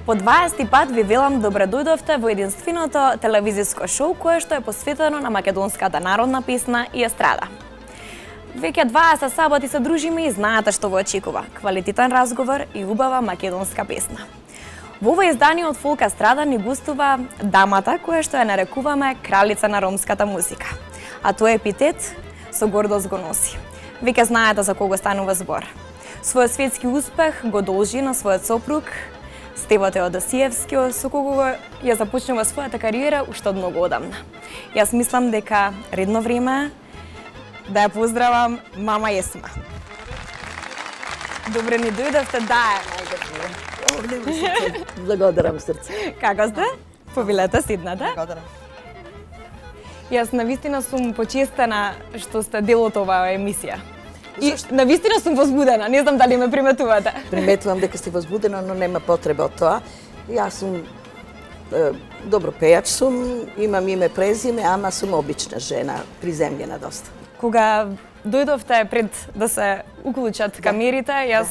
По 20 пат ви велам добре дојдовте во единственото телевизиско шоу кое што е посветено на македонската народна песна и естрада. Веќе 20 саботи се дружиме и знаете што во очекува. Квалитетен разговор и убава македонска песна. Во ова издание од Фолк естрада ни гостува дамата која што ја нарекуваме кралица на ромската музика. А тој епитет со гордост го носи. Веќе знаете за кого станува збор. Својот светски успех го должи на својот сопруг Стево Теодосиевски, со кого ја започнува својата кариера уште од многу одамна. Јас мислам дека редно време да ја поздравам мама Есма. Добре ни дојдовте, да е. Благодарам срце. Како сте? Повелете, седнете. Благодарам. Јас навистина сум почестена што сте дел од оваа емисија. И навистина сум возбудена, не знам дали ме приметувате. Приметувам дека сте возбудена, но нема потреба од тоа. Јас сум добро пејач сум, имам име презиме, ама сум обична жена, приземljena доста. Кога дојдовте пред да се уклучат камерите, јас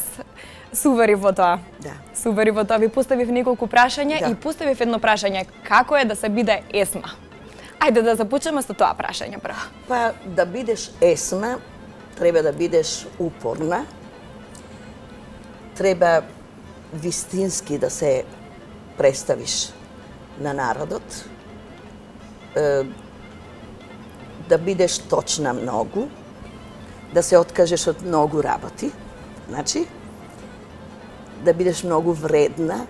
се уверив во тоа. Да. Се уверив во тоа, ви поставив неколку прашања Да. и поставив едно прашање, како е да се биде Есма? Ајде да започнеме со тоа прашање прво. Па да бидеш Есма, треба да бидеш упорна, треба вистински да се представиш на народот, да бидеш точна многу, да се откажеш од многу работи, значи, да бидеш многу вредна,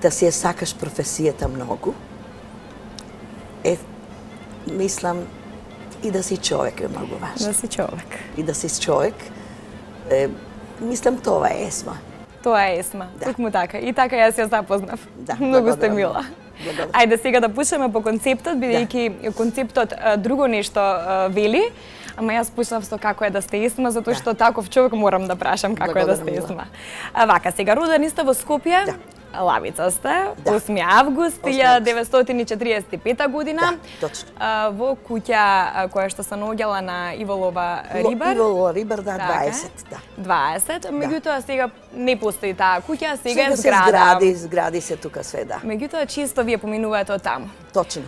да си ја сакаш професијата многу, мислам, и да си човек е многу важно. Да си човек. И да си човек, мислам тоа е Есма. Тоа е Есма, Да. токму така. И така јас ја запознав. Да, Многу сте благодарам. мила. Благодарам. Ајде сега да почнеме по концептот, бидејќи концептот друго нешто вели, ама јас почнав со како е да сте Есма, затоа што таков човек морам да прашам како е да сте Благодарам, Есма. Вака, сега родени сте во Скопје. Да. Лавица сте, Да. 8 август 1945 година. Да, точно. Во куќа која што се наоѓала на Иволова Рибар. Иволова Рибар, да, Така е. 20, да. 20, меѓутоа сега не постои таа куќа, сега е Сега се зграда. згради се тука све, да. Меѓутоа често вие поминувате од таму. Точно.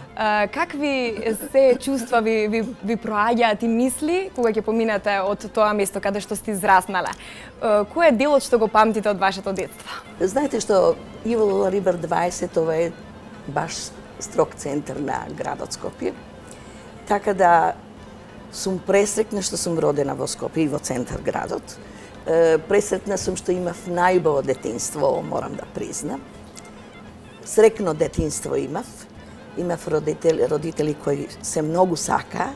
Какви се чувства ви проаѓаат и мисли кога ќе поминете од тоа место каде што сте израснале? Кој е делот што го памтите од вашето детство? Знаете што Иволова Рибар 20, ова е баш строг центар на градот Скопје. Така да сум пресрекна што сум родена во Скопје и во центар градот. Пресрекна сум што имав најубаво детинство, морам да признам. Срекно детинство имав. Имав родители кои се многу сакаа.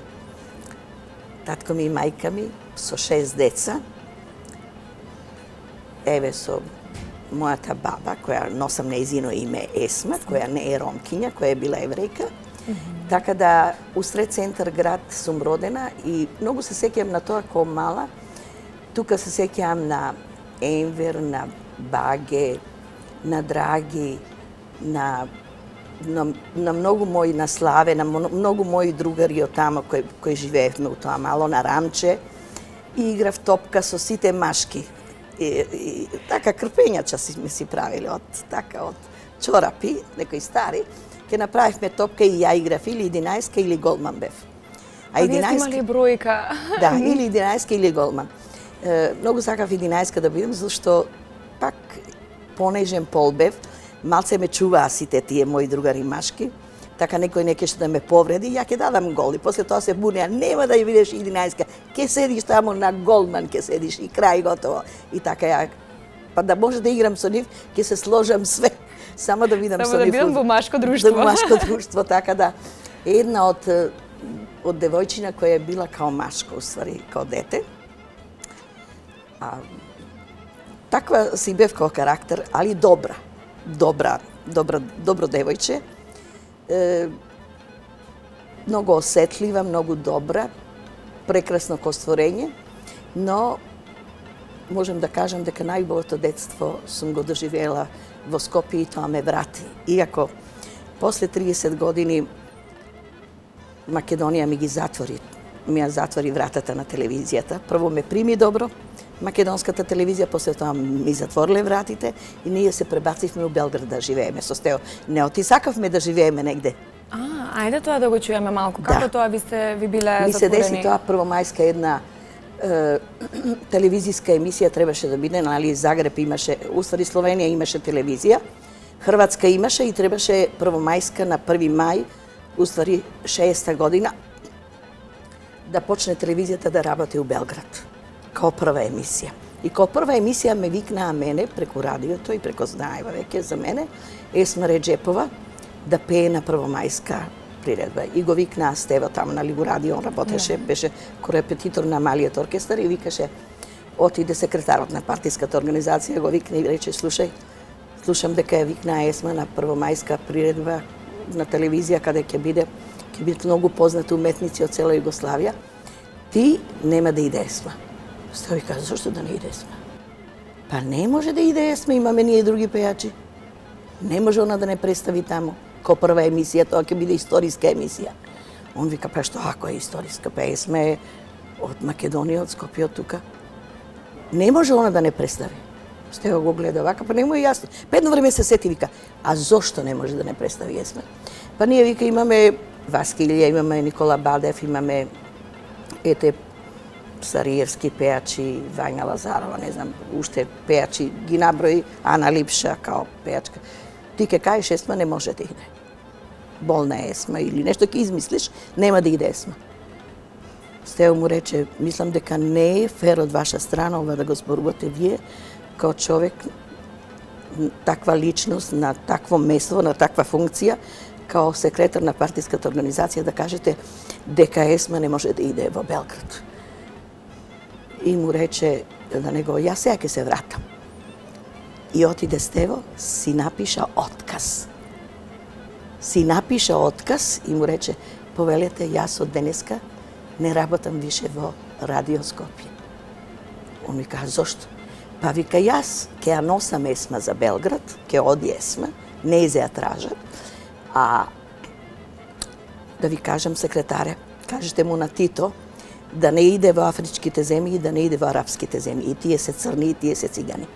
Татко ми и мајка ми со 6 деца. Еве со мојата баба, која носам нејзино име Есма, која не е ромкиња, која е била еврејка. Така да, усред центар град сум родена и многу се сеќавам на тоа кога мала. Тука се сеќавам на Енвер, на Баге, на Драги, на многу мои, на Славе, на многу мои другари од тама кои живеевме у тоа мало, на Рамче. И играв топка со сите машки. И така крпењача си правили од чорапи, некои стари. Ке направивме топка и ја играв или 11 или голман бев. А вие сте имали бројка. Да, или 11 или голман. Многу сакав 11 да бидам, зашто пак понежен пол бев. Малце ме чуваа сите тие мои другари машки. Така некој не ќе да ме повреди, ја ќе дадам гол. И после тоа се бунеа, нема да ја видиш 11, ќе седиш таму на голман, ќе седиш и крај готово. И така ја, па да може да играм со нив, ќе се сложам све, само да видам со нив. Само да бидам во машко друштво. Во машко друштво, така да. Една од девојчина која е била као машко, уствари, као дете. Таква си бев као карактер, али добро девојче. Многу осетлива, многу добра, прекрасно ко створење, но можам да кажам дека најубавото детство сум го доживела во Скопје и тоа ме врати. Иако после 30 години Македонија ми ги затвори ми ја затвори вратата на телевизијата. Прво ме прими добро, македонската телевизија, после тоа ми затвориле вратите и ние се пребацивме у Белград да живееме со Стео. Не сакавме да живееме негде. Ајде тоа да го чуеме малку. Како тоа ви биле затворени? Ми се деси тоа првомајска една телевизијска емисија требаше да биде, нали, Загреб имаше, уствари Словенија имаше телевизија, Хрватска имаше и требаше првомајска на 1 мај, уствари 60-та година, да почне телевизијата да работи у Белград, као прва емисија. И као прва емисија ме викнаа мене преку радиото и преку знаева веќе за мене, Есма Реджепова, да пее на првомајска приредба. И го викнаа Стево таму, нали, го радио, он работеше, беше корепетитор на малиот оркестар и викаше, отиде секретарот на партиската организација, го викна и рече, слушам дека ја викнаа Есма на првомајска приредба на телевизија, каде ќе бидат многу познати уметници од цела Југославија. Ти нема да иде Есма. Стево и каза, зашто да не иде Есма? Па не може да иде Есма, имаме ние други пејачи. Не може она да не представи таму. Ко прва емисија, тоа ќе биде историска емисија. Он вика, па што ако е историска? Па Есма е од Македонија, од Скопје, од тука. Не може она да не представи. Стево го гледа вака, па не му е јасно. Па едно време се сети, вика, а зошто не може да не представи Есма? Па ние, вика, имаме Васка Илија, имаме Никола Бадев, имаме Сариевски пејачи, Вања Лазарова, не знам, уште пејачи, ги наброи, Ана Липша као пејачка. Ти ке кажеш Есма не може да иде. Болна е Есма или нешто ќе измислиш, нема да иде Есма. Стео му рече, мислам дека не е фер од ваша страна ова да го зборувате вие, као човек, таква личност, на такво место, на таква функција, као секретар на партиската организација, да кажете дека Есма не може да иде во Белград. И му рече да него, јас сега ќе се вратам. И отиде Стево, си напиша отказ. И му рече, повелете, јас од денеска не работам више во Радио Скопје. Он ми кажа, зошто? Па вика, јас ќе ја носам Есма за Белград, ќе оди Есма, не ја тражат, а да ви кажам секретаре, кажете му на Тито, да не иде во афричките земји и да не иде во арапските земји. И тие се црни, и тие се цигани.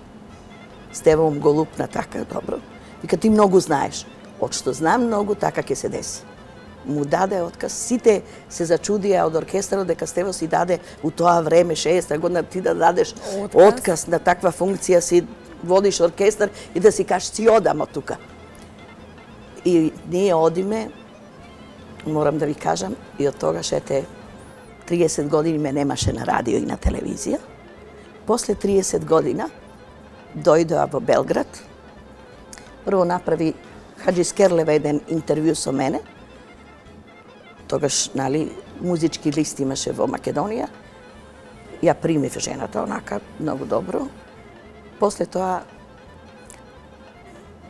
Стево го лупна така добро. Вика, ти многу знаеш. Од што знам многу, така ќе се деси. Му даде отказ. Сите се зачудија од оркестарот дека Стево си даде у тоа време, 60-та година, ти да дадеш отказ на таква функција, си водиш оркестар и да си кажеш, си одам од тука. И ние одиме, морам да ви кажам, и од тогаш 30 години ме немаше на радио и на телевизија. После 30 година дојдоа во Белград. Прво направи Хаджи Скерлева еден интервју со мене. Тогаш, нали, музички лист имаше во Македонија. Ја примив жената онака многу добро. После тоа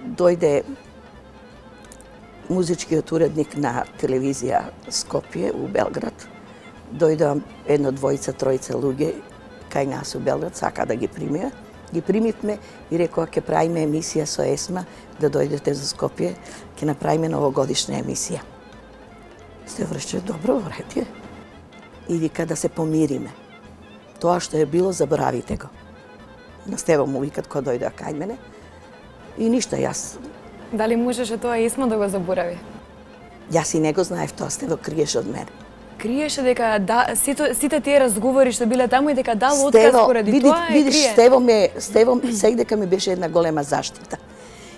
дојде музичкиот уредник на телевизија Скопје у Белград. Дојдоа едно, двојца, тројца луѓе кај нас у Белград, сака да ги примија. Ги примивме и рекоа ќе правиме емисија со Есма, да дојдете за Скопје, ќе направиме новогодишна емисија. Стево рече, добро, вреди. И вика да се помириме. Тоа што е било, заборавите го. На Стево му викат кога дојдоа кај мене. И ништо, јас... Дали можеше тоа Есма да го заборави? Јас и не го знаев тоа, Стево криеше од мене. Криеше дека сите тие разговори што биле таму и дека дал отказ поради тоа е крие. Стево сега дека ми беше една голема заштита.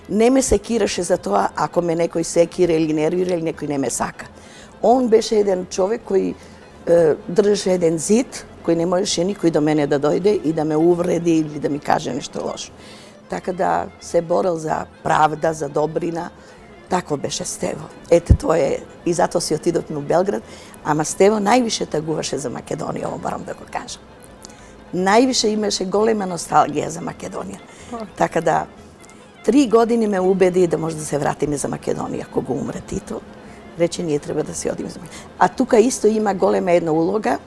Не ме секираше за тоа ако ме некој секира или нервира или некој не ме сака. Он беше еден човек кој држеше еден зид, кој не можеше никој до мене да дојде и да ме увреди или да ми каже нешто лошо. Така да се борел за правда, за добрина. Тако беше Стево. Ете, тоа е, и затоа си отидовме у Белград, ама Стево највише тагуваше за Македонија, ово морам да го кажам. Највише имаше голема носталгија за Македонија. Така да, 3 години ме убеди да може да се вратиме за Македонија, кога умре Тито. Рече, ние треба да се одиме за Македонија. А тука исто има голема една улога.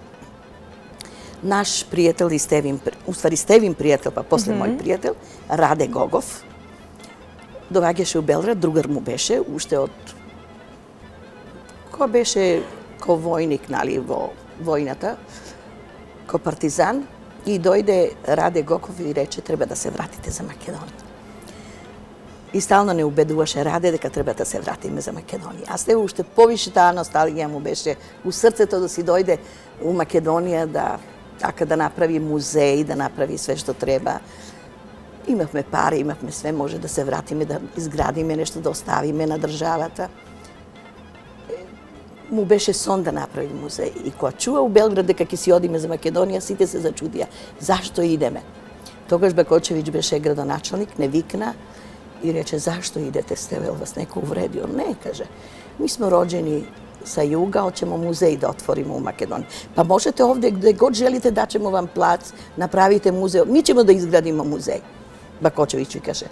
Наш пријател и Стевин пријател, па после мој пријател, Раде Гогов, доаѓаше у Белград, другар му беше, уште од... Кој беше ко војник, нали, во војната ко партизан и дојде Раде Гоков и рече треба да се вратите за Македонија. И стално не убедуваше Раде дека треба да се вратиме за Македонија. А сте уште повише таа носталгија му беше у срцето да си дојде у Македонија да направи музеј, да направи све што треба. Имавме пари, имавме све, може да се вратиме, да изградиме нешто, да оставиме на државата. Му беше сон да направи музеј. И кога чуа у Белград дека ќе си одиме за Македонија, сите се зачудија. Зашто идеме? Тогаш Бакочевиќ беше градоначалник, не викна и рече, зашто идете, сте вел вас некој увредио? Не, каже. Ми сме роđени sa juga, hoćemo muzej da otvorimo u Makedoniji. Pa možete ovde, gde god želite, daćemo vam plac, napravite muzej. Mi ćemo da izgradimo muzej. Bakočević mi kaže.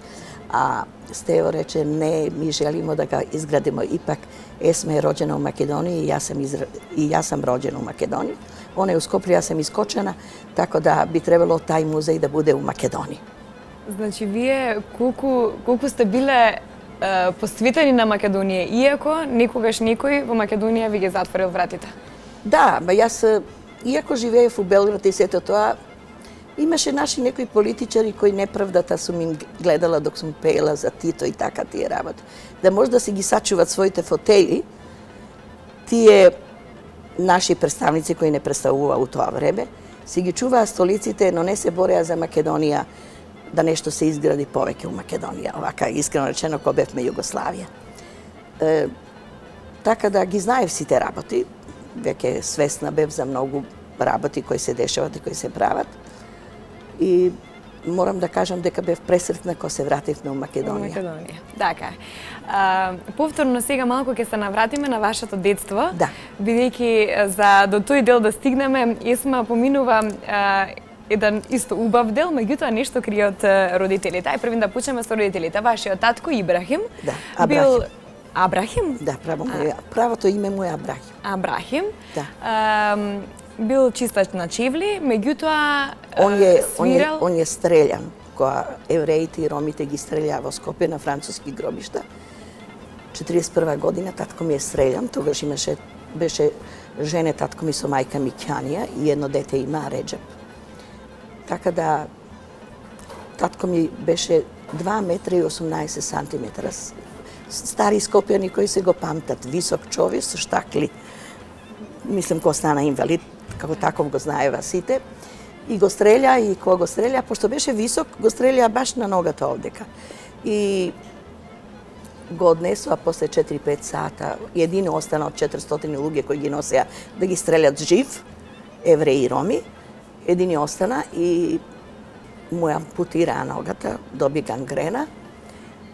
A Stevo reče, ne, mi želimo da ga izgradimo. Ipak, Esma je rođena u Makedoniji i ja sam rođena u Makedoniji. Ona je u Skoplju, ja sam iskočena, tako da bi trebalo taj muzej da bude u Makedoniji. Значи, вие колку сте биле посветени на Македонија, иако никогаш никој во Македонија ви ги затворил вратите? Да, ба јас, иако живеев у Белград и сето тоа, имаше наши некои политичари кои неправдата сум им гледала док сум пеела за Тито и така тие работи. Да може да си ги сачуват своите фотели, тие наши представници кои не представуваа у тоа време, си ги чуваа столиците, но не се бореа за Македонија, да нешто се изгради повеќе у Македонија, овака искрено речено ко бевме Југославија. Така да ги знаев сите работи, веќе свесна бев за многу работи кои се дешават и кои се прават. И морам да кажам дека бев пресретна кога се вративме у Македонија. Така. Повторно сега малку ќе се навратиме на вашето детство. Да. Бидејќи за до тој дел да стигнеме, Есма поминува еден исто убав дел, меѓутоа нешто крие од родителите. Ај првин да почнеме со родителите. Вашиот татко Ибрахим бил Абрахим? Да, правото име му е Абрахим. Абрахим. Да. Бил чистач на чевли, меѓутоа свирал... Он е стрељан, кога евреите и ромите ги стрелја во Скопје на француски гробишта. 41 година татко ми е стрељан, тогаш беше жене татко ми со мајка ми Ќанија и едно дете има Реджеп. Така да татко ми беше 2 метра и 18 сантиметра. Стари скопјани кои се го памтат, висок човек со штакли. Мислам кога стана инвалид, како таков го знаева сите. И го стреља, и кога го стреља, пошто беше висок, го стреља баш на ногата овдека. И го однесоа после 4-5 сата. Едино остана од 400 луѓе кои ги носеа да ги стрелят жив, евреи и роми. Едини остана и му ампутираа ногата, доби гангрена.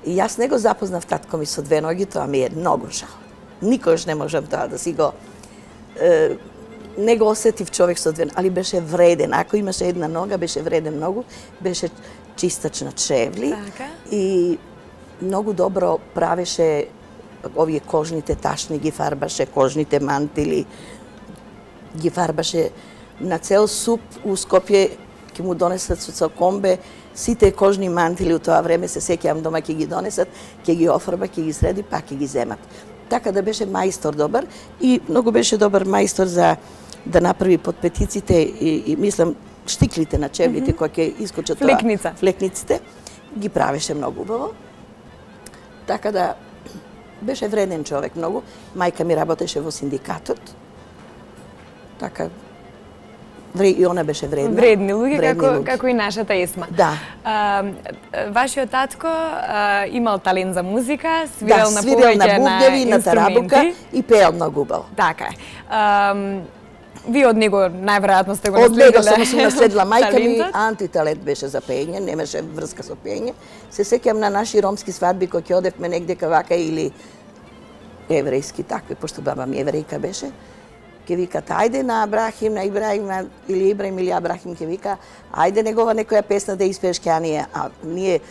И јас не го запознав татко ми со 2 ноги, тоа ми е многу жал. Никош не можам тоа да си го... не го осетив човек со 2 ноги, али беше вреден. Ако имаше една нога, беше вреден многу. Беше чистач на чевли. И многу добро правеше овие кожните ташни, ги фарбаше, кожните мантили, ги фарбаше на цел суп у Скопје, ќе му донесат со комбе, сите кожни мантили у тоа време, се сеќавам дома ќе ги донесат, ќе ги офарба, ќе ги среди, па ќе ги земат. Така да беше мајстор добар и многу беше добар мајстор за да направи подпетиците и мислам штиклите на чевлите кои ќе искочат тоа. Флекниците. Ги правеше многу убаво. Така да беше вреден човек многу. Мајка ми работеше во синдикатот. Така и она беше вредна. Вредни луѓе, како и нашата Есма. Да. Вашиот татко имал талент за музика, свирел на повеќе на бубневи, на тарабука и пеел многу убаво. Така е. Вие од него најверојатно сте го наследиле. Од него сум наследила. Мајка ми антиталент беше за пење, немаше врска со пење. Се сеќам на наши ромски свадби кои ќе одевме негде вака или еврејски такви, пошто баба ми еврејка беше. Ке викат, ајде на Абрахим, на Ибраим, или Ибраим или Абрахим, ке вика, ајде негова некоја песна да испееш Ќанија, а ние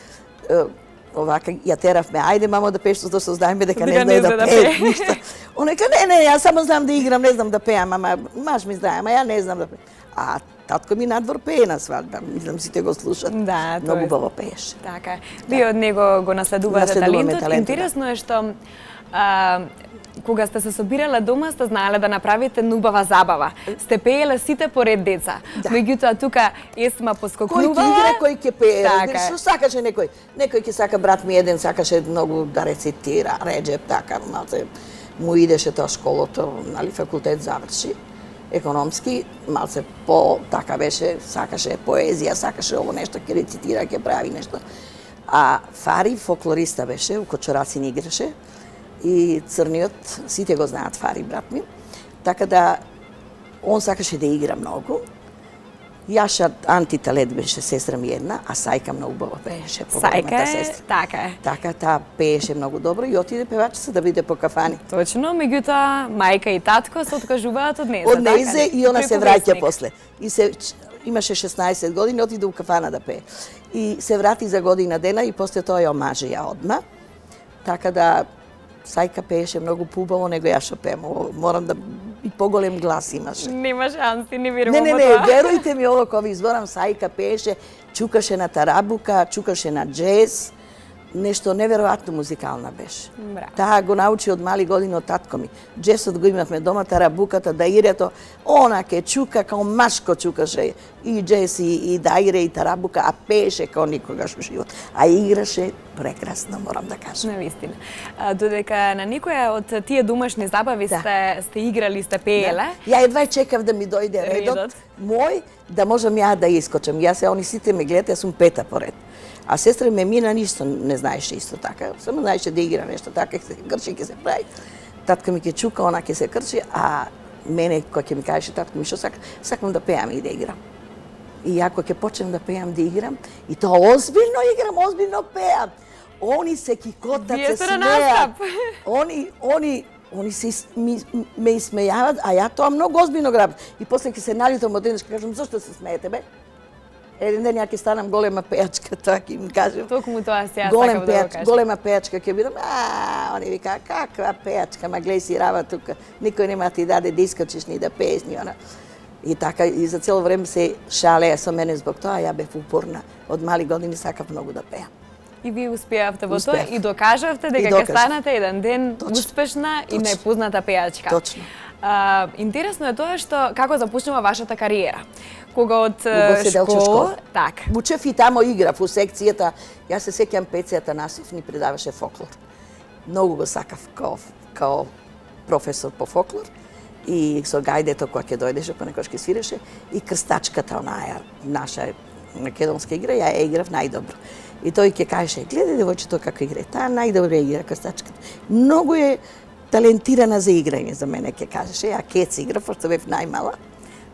овака ја теравме, ајде мамо да пееш, што знаеме дека не знае да пее ништо. Он вика, не, јас само знам да играм, не знам да пеам, ама маж ми знае, ама ја не знам да пеам. А татко ми надвор пее на свадба, мислам сите го слушат. Да, многу убаво пееше. Така. Вие од него го наследувате талентот. Интересно е што кога сте се собирале дома, сте знаеле да направите нубава забава. Сте пееле сите поред деца. Меѓутоа тука Есма поскокнувала. Кој ќе игра, кој ќе пее. Така е. Што сакаше некој? Некој ќе сака, брат ми еден сакаше многу да рецитира, Реджеп, така, малце му идеше тоа школото, нали, факултет заврши, економски, малце по така беше, сакаше поезија, сакаше ово нешто, ќе рецитира, ќе прави нешто. А Фари фолклориста беше, у Кочорацин играше и црниот, сите го знаат Фари, брат ми. Така да он сакаше да игра многу. Јаша антиталент беше сестра ми една, а Сајка многу убаво пееше, по-големата сестра. Така е. Така, таа пееше многу добро и отиде певачица да биде по кафани. Точно, меѓутоа мајка и татко се откажуваат од нејзе. Од нејзе и она се враќа после. И се имаше 16 години, отиде у кафана да пее. И се врати за година дена и после тоа ја омажија одма. Така да Сајка пееше многу поубаво него ја што пеем. Морам да и поголем глас имаше. Нема шанси, не верувам Не, во тоа. верујте ми, ово кога ви изборам, Сајка пееше, чукаше на тарабука, чукаше на джез, нешто неверојатно музикална беше. Браво. Таа го научи од мали години од татко ми. Джесот го имавме дома, тарабуката, даирето, она ке чука, као машко чукаше и джес, и даире, и тарабука, а пееше као никогаш во живот. А играше прекрасно, морам да кажам. Навистина. Додека на никоја од тие домашни забави сте играли, сте пееле. Ја едва чекав да ми дојде редот мој, да можам ја да искочам. Јас они сите ме гледат, јас сум пета поред. А сестра ме мина ништо не знаеше исто така. Само знаеше да игра нешто така, ќе се крчи, ќе се прави. Татка ми ќе чука, она ќе се крчи, а мене кој ќе ми кажеше татко ми што сакам да пеам и да играм. И ја кога ќе почнем да пеам, да играм, и тоа озбилно играм, озбилно пеам. Они се кикотат, се смеат. Они се ме исмејават, а ја тоа многу озбилно грабам. И после ќе се налютам од денешка, кажам, зошто се смеете, бе? Еден ден ја ќе станам голема пејачка, тоа ќе им кажем. Токму тоа се јас сакам да го кажам. Голема пејачка ќе бидам. Они вика, каква пејачка, ма гледај си рава тука. Никој нема ти даде да искочиш ни да пееш ни она. И така и за цело време се шалеа со мене због тоа, ја бев упорна. Од мали години сакав многу да пеам. И вие успеавте во тоа и докажавте дека ќе станете еден ден успешна и најпозната пејачка. Точно. Интересно е тоа што како започнува вашата кариера. Кога од школа, така. Учев и тамо играв у секцијата. Јас се сеќам Пецијата Насив ни предаваше фолклор. Многу го сакав као професор по фолклор. И со гајдето која ќе дојдеше, понекогаш ќе свиреше, и крстачката онаја наша македонска игра, ја играв најдобро. И тој ќе кажеше, гледај девојчето како игра, таа најдобро игра крстачката. Многу е талентирана за играње за мене, ќе кажеше, ја кец игра, пошто бев најмала.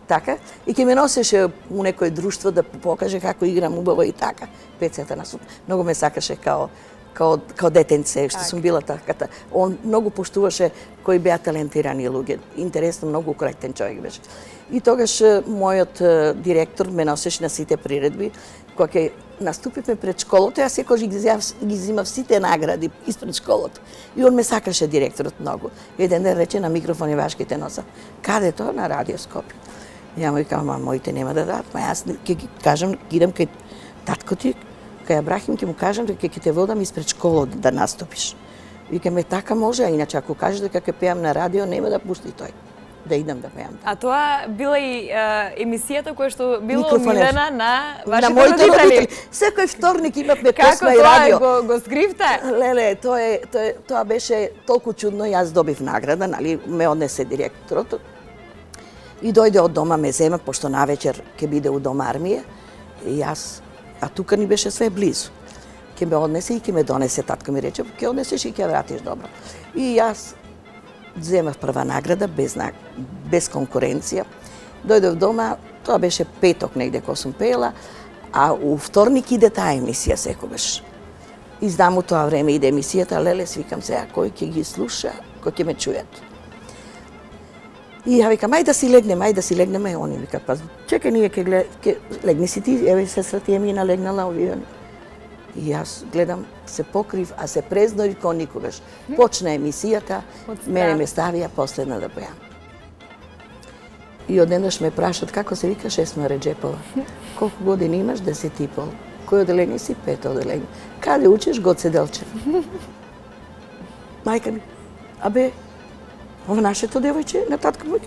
Така, и ќе ме носеше у некој друштво да покаже како играм убаво и така. Пецијата Насив многу ме сакаше као детенце, што сум била таката. Он многу поштуваше кои беа талентирани луѓе. Интересно, многу коректен човек беше. И тогаш мојот директор ме носеше на сите приредби. Кога ќе наступивме пред школото, јас секогаш ги земав сите награди испред школото. И он ме сакаше директорот многу. Еден ден рече на микрофон и вашките носа. Каде тоа? На Радио Скопје. Ја му викам, моите нема да дадат, ма јас ќе ги кажам, идам кај татко ти, кај Абрахим, ќе му кажам дека ќе те водам испред школото да наступиш. Викаме, така може, а иначе ако кажеш дека ќе пеам на радио, нема да пусти тој да идам да пеам. А тоа била и емисијата која што била омилена на вашите моите родители. Секој вторник имавме песма и Како радио. тоа го скривте? Леле, тоа беше толку чудно, јас добив награда, нали, ме однесе директорот. И дојде од дома, ме зема, пошто навечер ќе биде у дом армија. И јас, а тука ни беше све близу. Ќе ме однесе и ќе ме донесе, татко ми рече, ќе однесеш и ќе вратиш добро. И јас земав прва награда, без конкуренција. Дојдов дома, тоа беше петок негде кога сум пеела, а у вторник иде таа емисија секогаш. И знам у тоа време иде емисијата, леле, свикам сега, кој ќе ги слуша, кој ќе ме чујат. И ја викам, ајде да си легнеме, они викат, па чекај, ние ќе легни си ти, еве сестра ти Емина легнала овие. И јас гледам, се покрив, а се презнои ко никогаш. Почна емисијата, мене ме ставија последна да пеам. И одеднаш ме прашат како се викаш Есма Реджепова. Колку години имаш? 10 и пол. Кој оделение си? 5 оделение. Каде учиш? Гоце Делчев. Мајка ми, абе, ова нашето девојче на татко ми.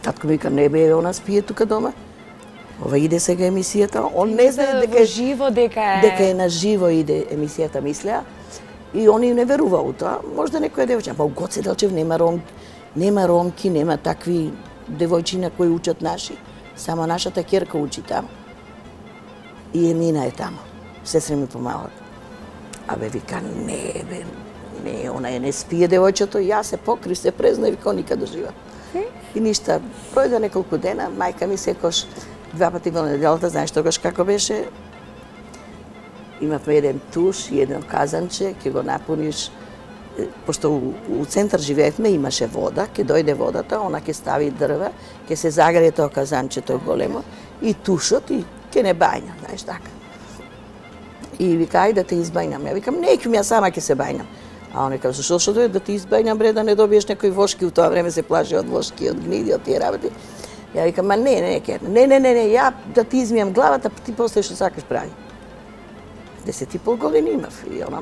Татко ми вика, не бе, она спие тука дома. Ова иде сега емисијата, он не знае дека живо, дека е на живо иде емисијата, мислеа. И они не верува у тоа. Можда некоја девојче, ама у Гоце Делчев нема ромки, нема такви девојчина кои учат наши. Само нашата ќерка учи таму. И Емина е таму. Сестри ми помагат. Абе, вика, не, она не спие девојчето, јас се покри, се презна и вика, никад дожива. И ништа, пројде неколку дена, мајка ми секош 2 пати во неделата, знаеш тогаш како беше, имавме еден туш и еден казанче, ќе го напуниш, пошто у центар живеевме, имаше вода, ќе дојде водата, она ќе стави дрва, ќе се загрее тоа казанчето големо и тушот и ќе не бајна, знаеш така. И вика, ајде да те избајнам. Ја викам, неќум, ја сама ќе се бајнам. А он вика, зашто е да ти избајнам, бре, да не добиеш некои вошки, у тоа време се плаши од вошки, од гниди, од тие работи. Ја викам, ма не, ја да ти измијам главата, ти после што сакаш прави. 10,5 години имав и она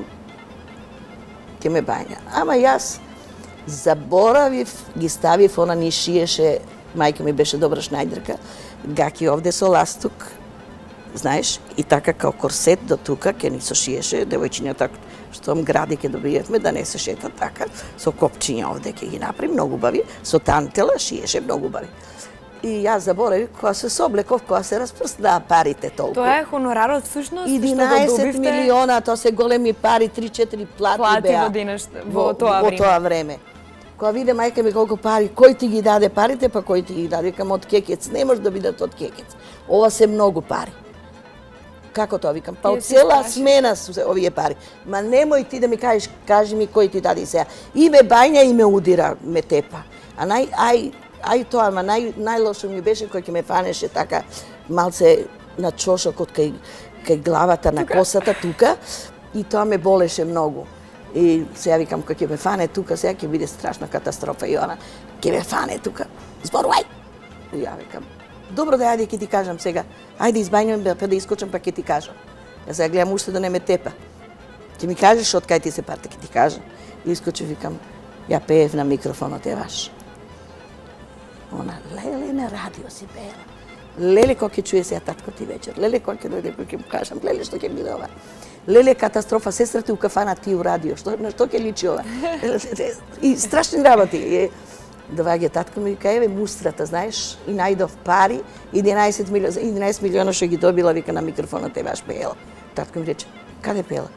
ќе ме бајна. Ама јас заборавив, ги ставив, она ни шиеше, мајка ми беше добра шнајдерка, гаки овде со ластук, знаеш, и така као корсет до тука, ќе ни сошиеше, девојчињата што гради ќе добиевме, да не се шета така, со копчиња овде ќе ги направи, многу бави, со тантела шиеше многу бави. И јас заборавив, кога се соблеков, кога се распрснаа парите толку. Тоа е хонорарот всушност, 11 милиона, тоа се големи пари, 3-4 плати беа во тоа време. Кога виде мајка ми колку пари, кој ти ги даде парите, па кој ти ги даде, викам од Кекец, не може да бидат од Кекец. Ова се многу пари. Како тоа викам? Па од цела смена се овие пари. Ма немој ти да ми кажеш, кажи ми кој ти даде сега. И ме бајна и ме удира, ме тепа. А тоа, ама најлошо ми беше кој ќе ме фанеше така малце на чошокот кај главата на косата тука и тоа ме болеше многу. И сега викам, кој ќе ме фане тука, сега ќе биде страшна катастрофа и она, ќе ме фане тука, зборувај! И ја викам, добро да јаде ќе ти кажам сега, ајде избајнувам па да искочам па ќе ти кажам. Ја сега гледам уште да не ме тепа. Ќе ми кажеш од кај ти се парте, ќе ти кажам. И искочив, викам, ја пеев на микрофонот е ваш. Она, леле, на радио си пеела. Леле, кој ќе чуе сега татко ти вечер. Леле, кој ќе дојде, кој ќе му кажам. Леле, што ќе биде ова. Леле, катастрофа, сестрата у кафана, ти у радио. На што ќе личи ова? И страшни работи. Доваѓа татко ми, вика, еве мустрата, знаеш, и најдов пари, 11 милиона што ги добила, вика, на микрофонот е ваш пеела. Татко ми рече, каде пеела?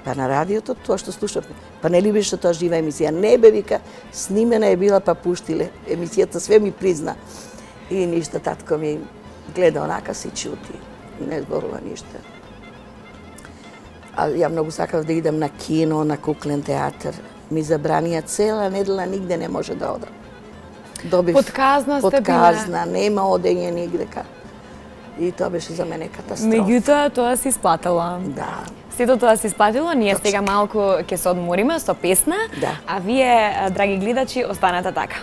Па на радиото, тоа што слушавме. Па не ли беше тоа жива емисија? Не бе, вика, снимена е била, па пуштиле. Емисијата све ми призна. И ништа, татко ми гледа онака си чути. Не зборува ништа. А ја многу сакав да идам на кино, на куклен театар. Ми забранија цела недела, нигде не може да одам. Добив Подказна сте била. Нема одење нигдека. И тоа беше за мене катастрофа. Меѓутоа, тоа се исплатила. Да. Сето тоа се исплатило, ние сега малку ќе се одмориме со песна, а вие, драги гледачи, останете така.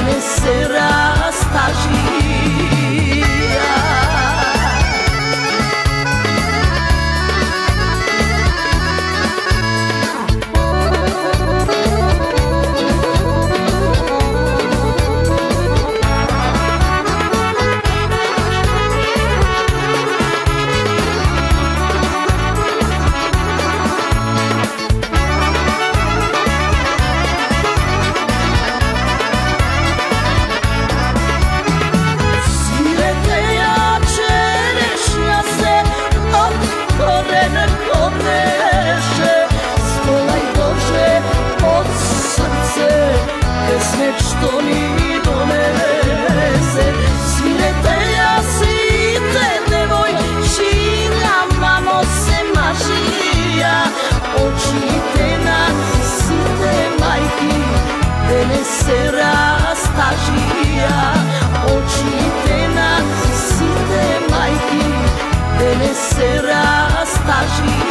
ne se rastažija. Što mi donese svirete ja site devojčinama nose mašija očite na site majki da ne se rastažija očite na site majki da ne se rastažija.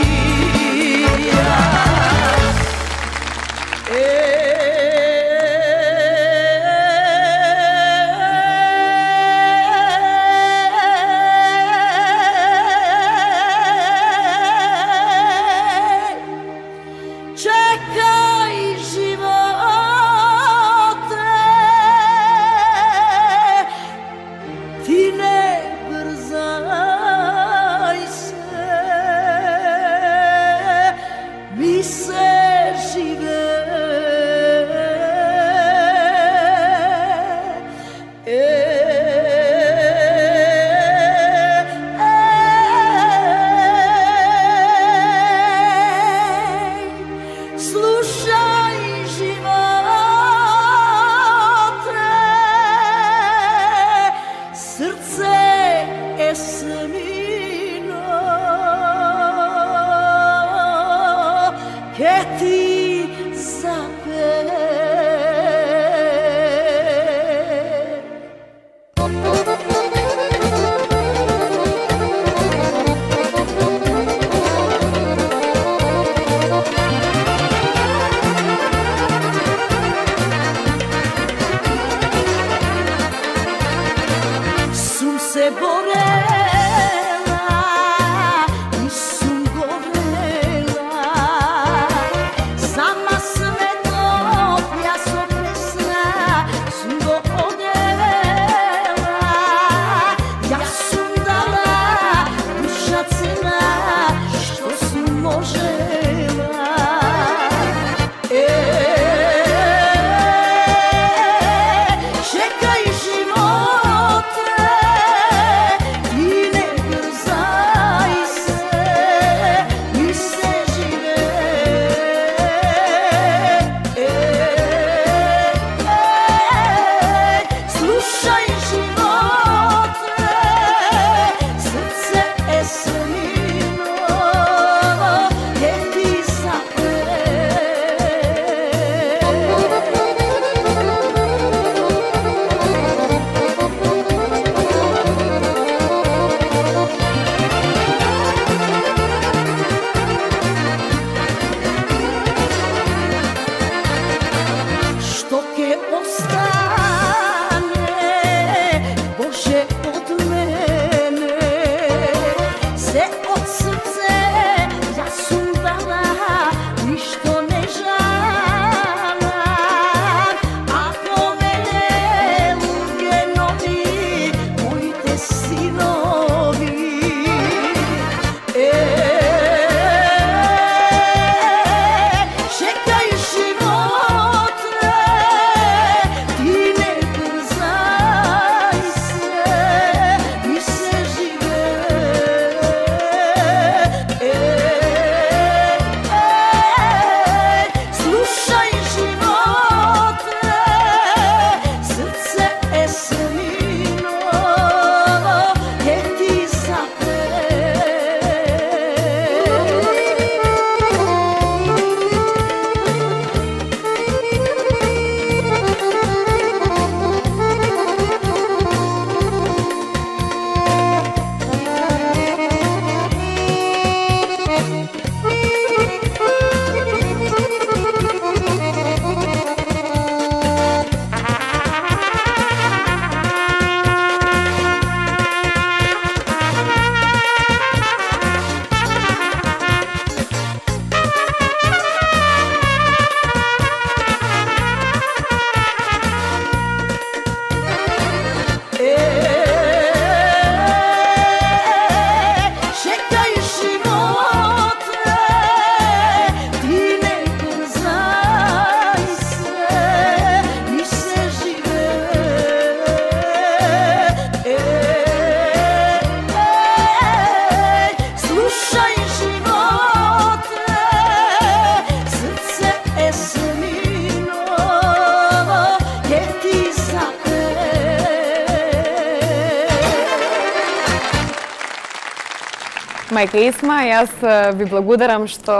Мајка Есма, јас ви благодарам што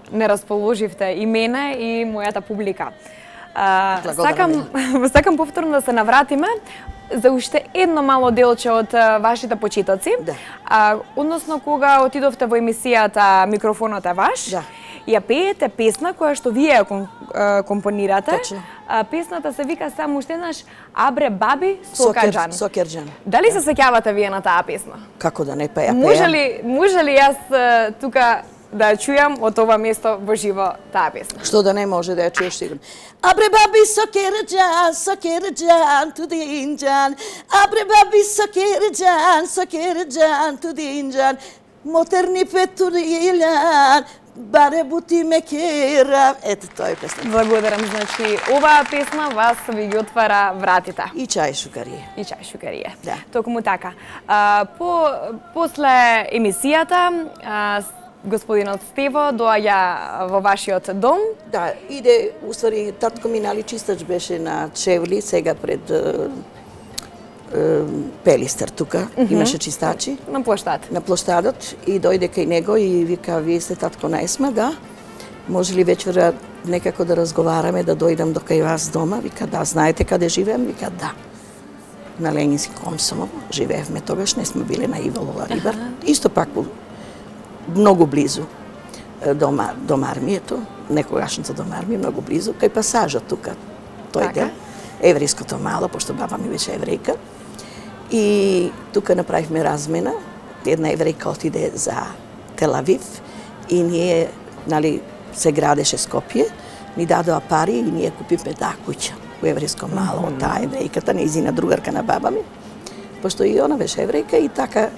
не расположивте и мене и мојата публика. Сакам повторно да се навратиме за уште едно мало делче од вашите почитоци. Да. Односно, кога отидовте во емисијата Микрофонот е ваш, да, ја пеете песна која што вие ја компонирате. Точно. Песната се вика само уште еднаш Абре баби Сокерџан. Сокерџан. Дали се сеќавате вие на таа песна? Како да не, па ја пеам. Може ли јас тука да ја чујам од ова место во живо таа песна? Што да не може да ја чуеш сигурно. Абре баби Сокерџан, Сокерџан, тудинџан. Абре баби Сокерџан, Сокерџан, тудинџан. Мотерни петуријан, баре бути мекера. Ето тоа е песна. Благодарам, значи оваа песна вас ви ги отвара вратите. И чај шукарија. И чај шукарија. Да. Токму така. После емисијата господинот Стево доаѓа во вашиот дом. Да, иде, уствари, татко ми наличистач беше на Чевли, сега пред Пелистер тука, имаше чистачи. На плоштад. На плоштадот и дојде кај него и вика, вие сте татко на Есма, да? Може ли вечера некако да разговараме, да дојдам до кај вас дома? Вика, да, знаете каде живеем? Вика, да. На Ленински Комсомол живеевме тогаш, не сме биле на Иволова Рибар. Исто пак многу близу дом армијето, некогашната дом армија, многу близу, кај пасажот тука, тој дел, еврејското мало, пошто баба ми беше еврејка. И тука направивме размена, една еврејка отиде за Телавив и ние, нали, се градеше Скопје, ни дадоа пари и ние купивме таа куќа во еврејско мало, од таа еврејката, нејзина другарка на баба ми, пошто и она беше еврејка и така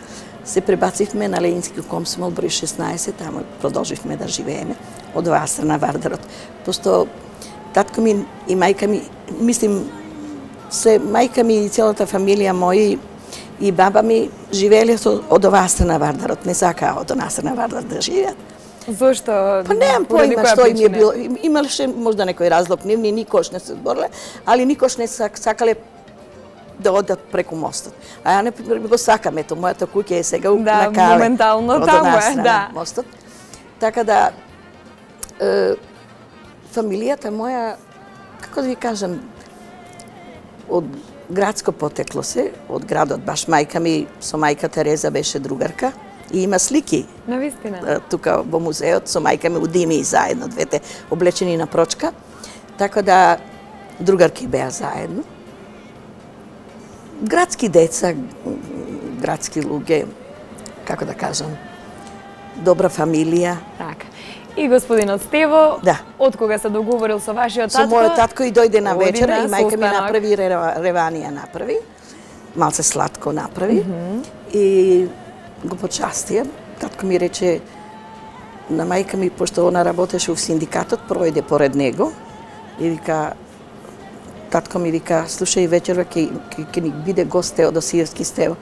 се пребацивме на Ленински Комсомол број 16, тамо продолживме да живееме од оваа страна Вардарот. Пошто татко ми и мајка ми, мислим, се мајка ми и целата фамилија моја и баба ми живееле од оваа страна Вардарот, не сакаа од онаа страна Вардарот да живеат. Зошто? Па немам поима што им е било. Имаше можда некој разлог, ние никош не се збореле, али никош не сакале да одат преку мостот. А ја, например, го сакам, ето, мојата куќа е сега на Кале. Моментално таму е, да. Мостот. Така да, фамилијата моја, како да ви кажам, од градско потекло се, од градот, баш мајка ми, со мајка Тереза беше другарка, и има слики. Навистина. Тука во музеот, со мајка ми удими заедно, двете облечени на прочка. Така да, другарки беа заедно. Градски деца, градски луѓе, како да кажам, добра фамилија. Така. И господинот Стево, да, од кога се договорил со вашиот татко? Со мојот татко и дојде на вечера и мајка ми направи реванија направи. Малце сладко направи и го почастија. Татко ми рече на мајка ми, пошто она работеше во синдикатот, пројде поред него и вика, татко ми вика, слушај, вечерва ќе ни биде гост Теодосиевски Стево.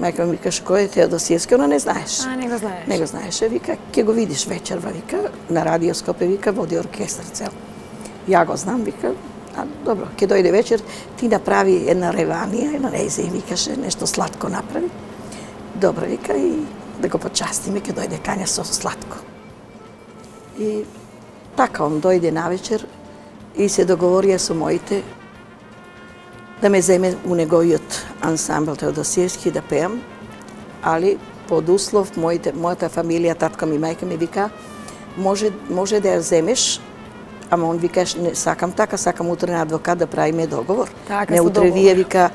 Мајка ми викаш, кој е Теодосиевски? Она не знаеш. Не го знаеш. Не го знаеше, вика, ќе го видиш вечерва, вика, на Радио Скопје, вика, води оркестар цел. Ја го знам, вика, добро, ќе дојде вечер, ти направи една реванија, една резе и викаше, нешто сладко направи. Добро, вика, и да го почастиме, ќе дојде кања со сладко. И така, он дојде навечер и се договорија со моите да ме земе у неговиот ансамбл Теодосиевски да пеам, али под услов мојата фамилија, татко ми, мајка ми вика, може да ја земеш, ама он викаш, не сакам така, сакам утре на адвокат да правиме договор. Така, не утре вие, вика,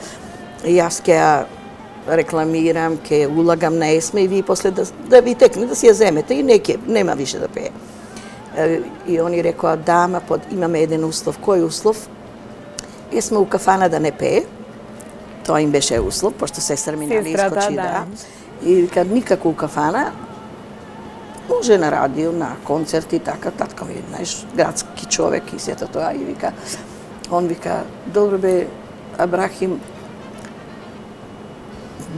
јас ќе ја рекламирам, ќе улагам на Есма и вие после да ви текне, да си ја земете и нема више да пее. И они рекоа, да, ама имаме еден услов. Кој услов? Есма у кафана да не пее. Тоа им беше услов, пошто сестра ми нали искочи, да. И вика, никако у кафана, може на радио, на концерти, така, татко ми, знаеш, градски човек и сето тоа. И вика, он вика, добро бе, Абрахим,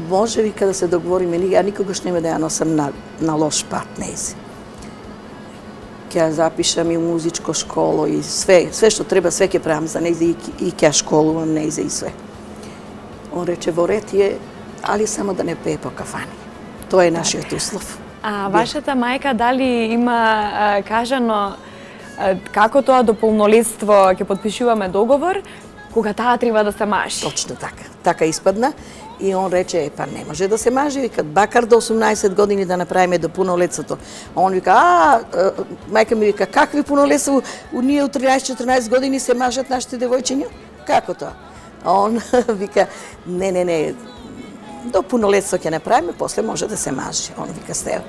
може, вика, да се договориме, ја никогаш нема да ја носам на лош пат, нејзе. Ќе ја запишам и у музичко школо и све што треба, све ќе правам за нејзе и ќе ја школувам нејзе и све. Он рече, во ред е, али само да не пее по кафани. Тоа е нашиот услов. А вашата мајка дали има кажано како тоа до полнолетство ќе подпишуваме договор, кога таа треба да се мажи? Точно така. Така испадна. И он рече, па не може да се мажи, вика, бакар до 18 години да направиме до пунолетството. А он вика, мајка ми вика, какви пунолетство, ние од 13-14 години се мажат нашите девојчиња? Како тоа? А он вика, не, до пунолетство ќе направиме, после може да се мажи. Он вика, Стево.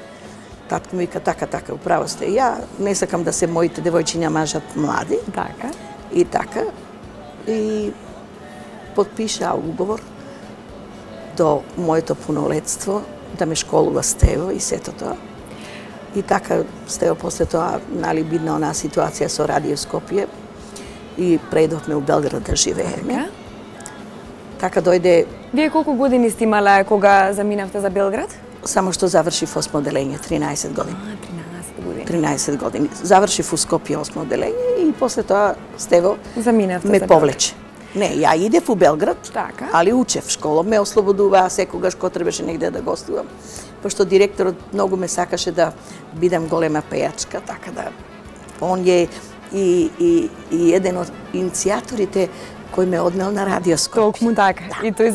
Татко ми вика, така, управо сте. Ја не сакам да се моите девојчиња мажат млади. Така. И така. И подпиша уговор до моето пунолетство, да ме школува Стево и сето тоа. И така Стево после тоа, нали, бидна онаа ситуација со Радио Скопје и предовме у Белград да живееме. Така дојде... Вие колку години сте имале кога заминавте за Белград? Само што завршив 8 оделење, 13 години. 13 години. 13 години. Завршив у Скопје 8 оделење и после тоа Стево заминавте ме за повлече. Не, ја идев у Белград, така, али учев. Школа ме ослободуваа секогаш кога требаше негде да гостувам. Пошто директорот многу ме сакаше да бидам голема пејачка, така да он е и еден од иницијаторите кој ме однел на Радио Скопје. Токму така. Да. И тој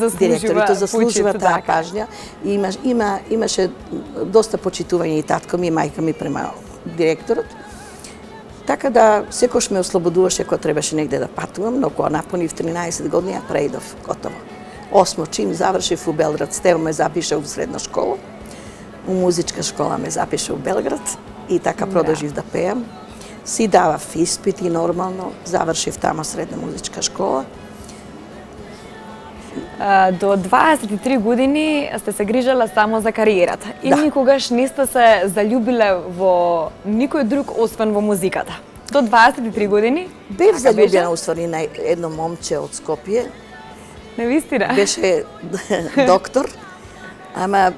заслужува таа пажња. И имаше доста почитување и татко ми и мајка ми према директорот. Така да секош ме ослободуваше кога требаше негде да патувам, но кога напунив 13 години, ја преидов готово. 8 чим завршив у Белград, Стево ме запиша у средна школа, у музичка школа ме запиша у Белград и така продолжив да пеам. Си давав испити нормално, завршив тама средна музичка школа. До 23 години сте се грижала само за кариерата и никогаш не сте се заљубиле во никој друг освен во музиката. До 23 години? Бев заљубена уствари на едно момче од Скопје. Навистина? Беше доктор, ама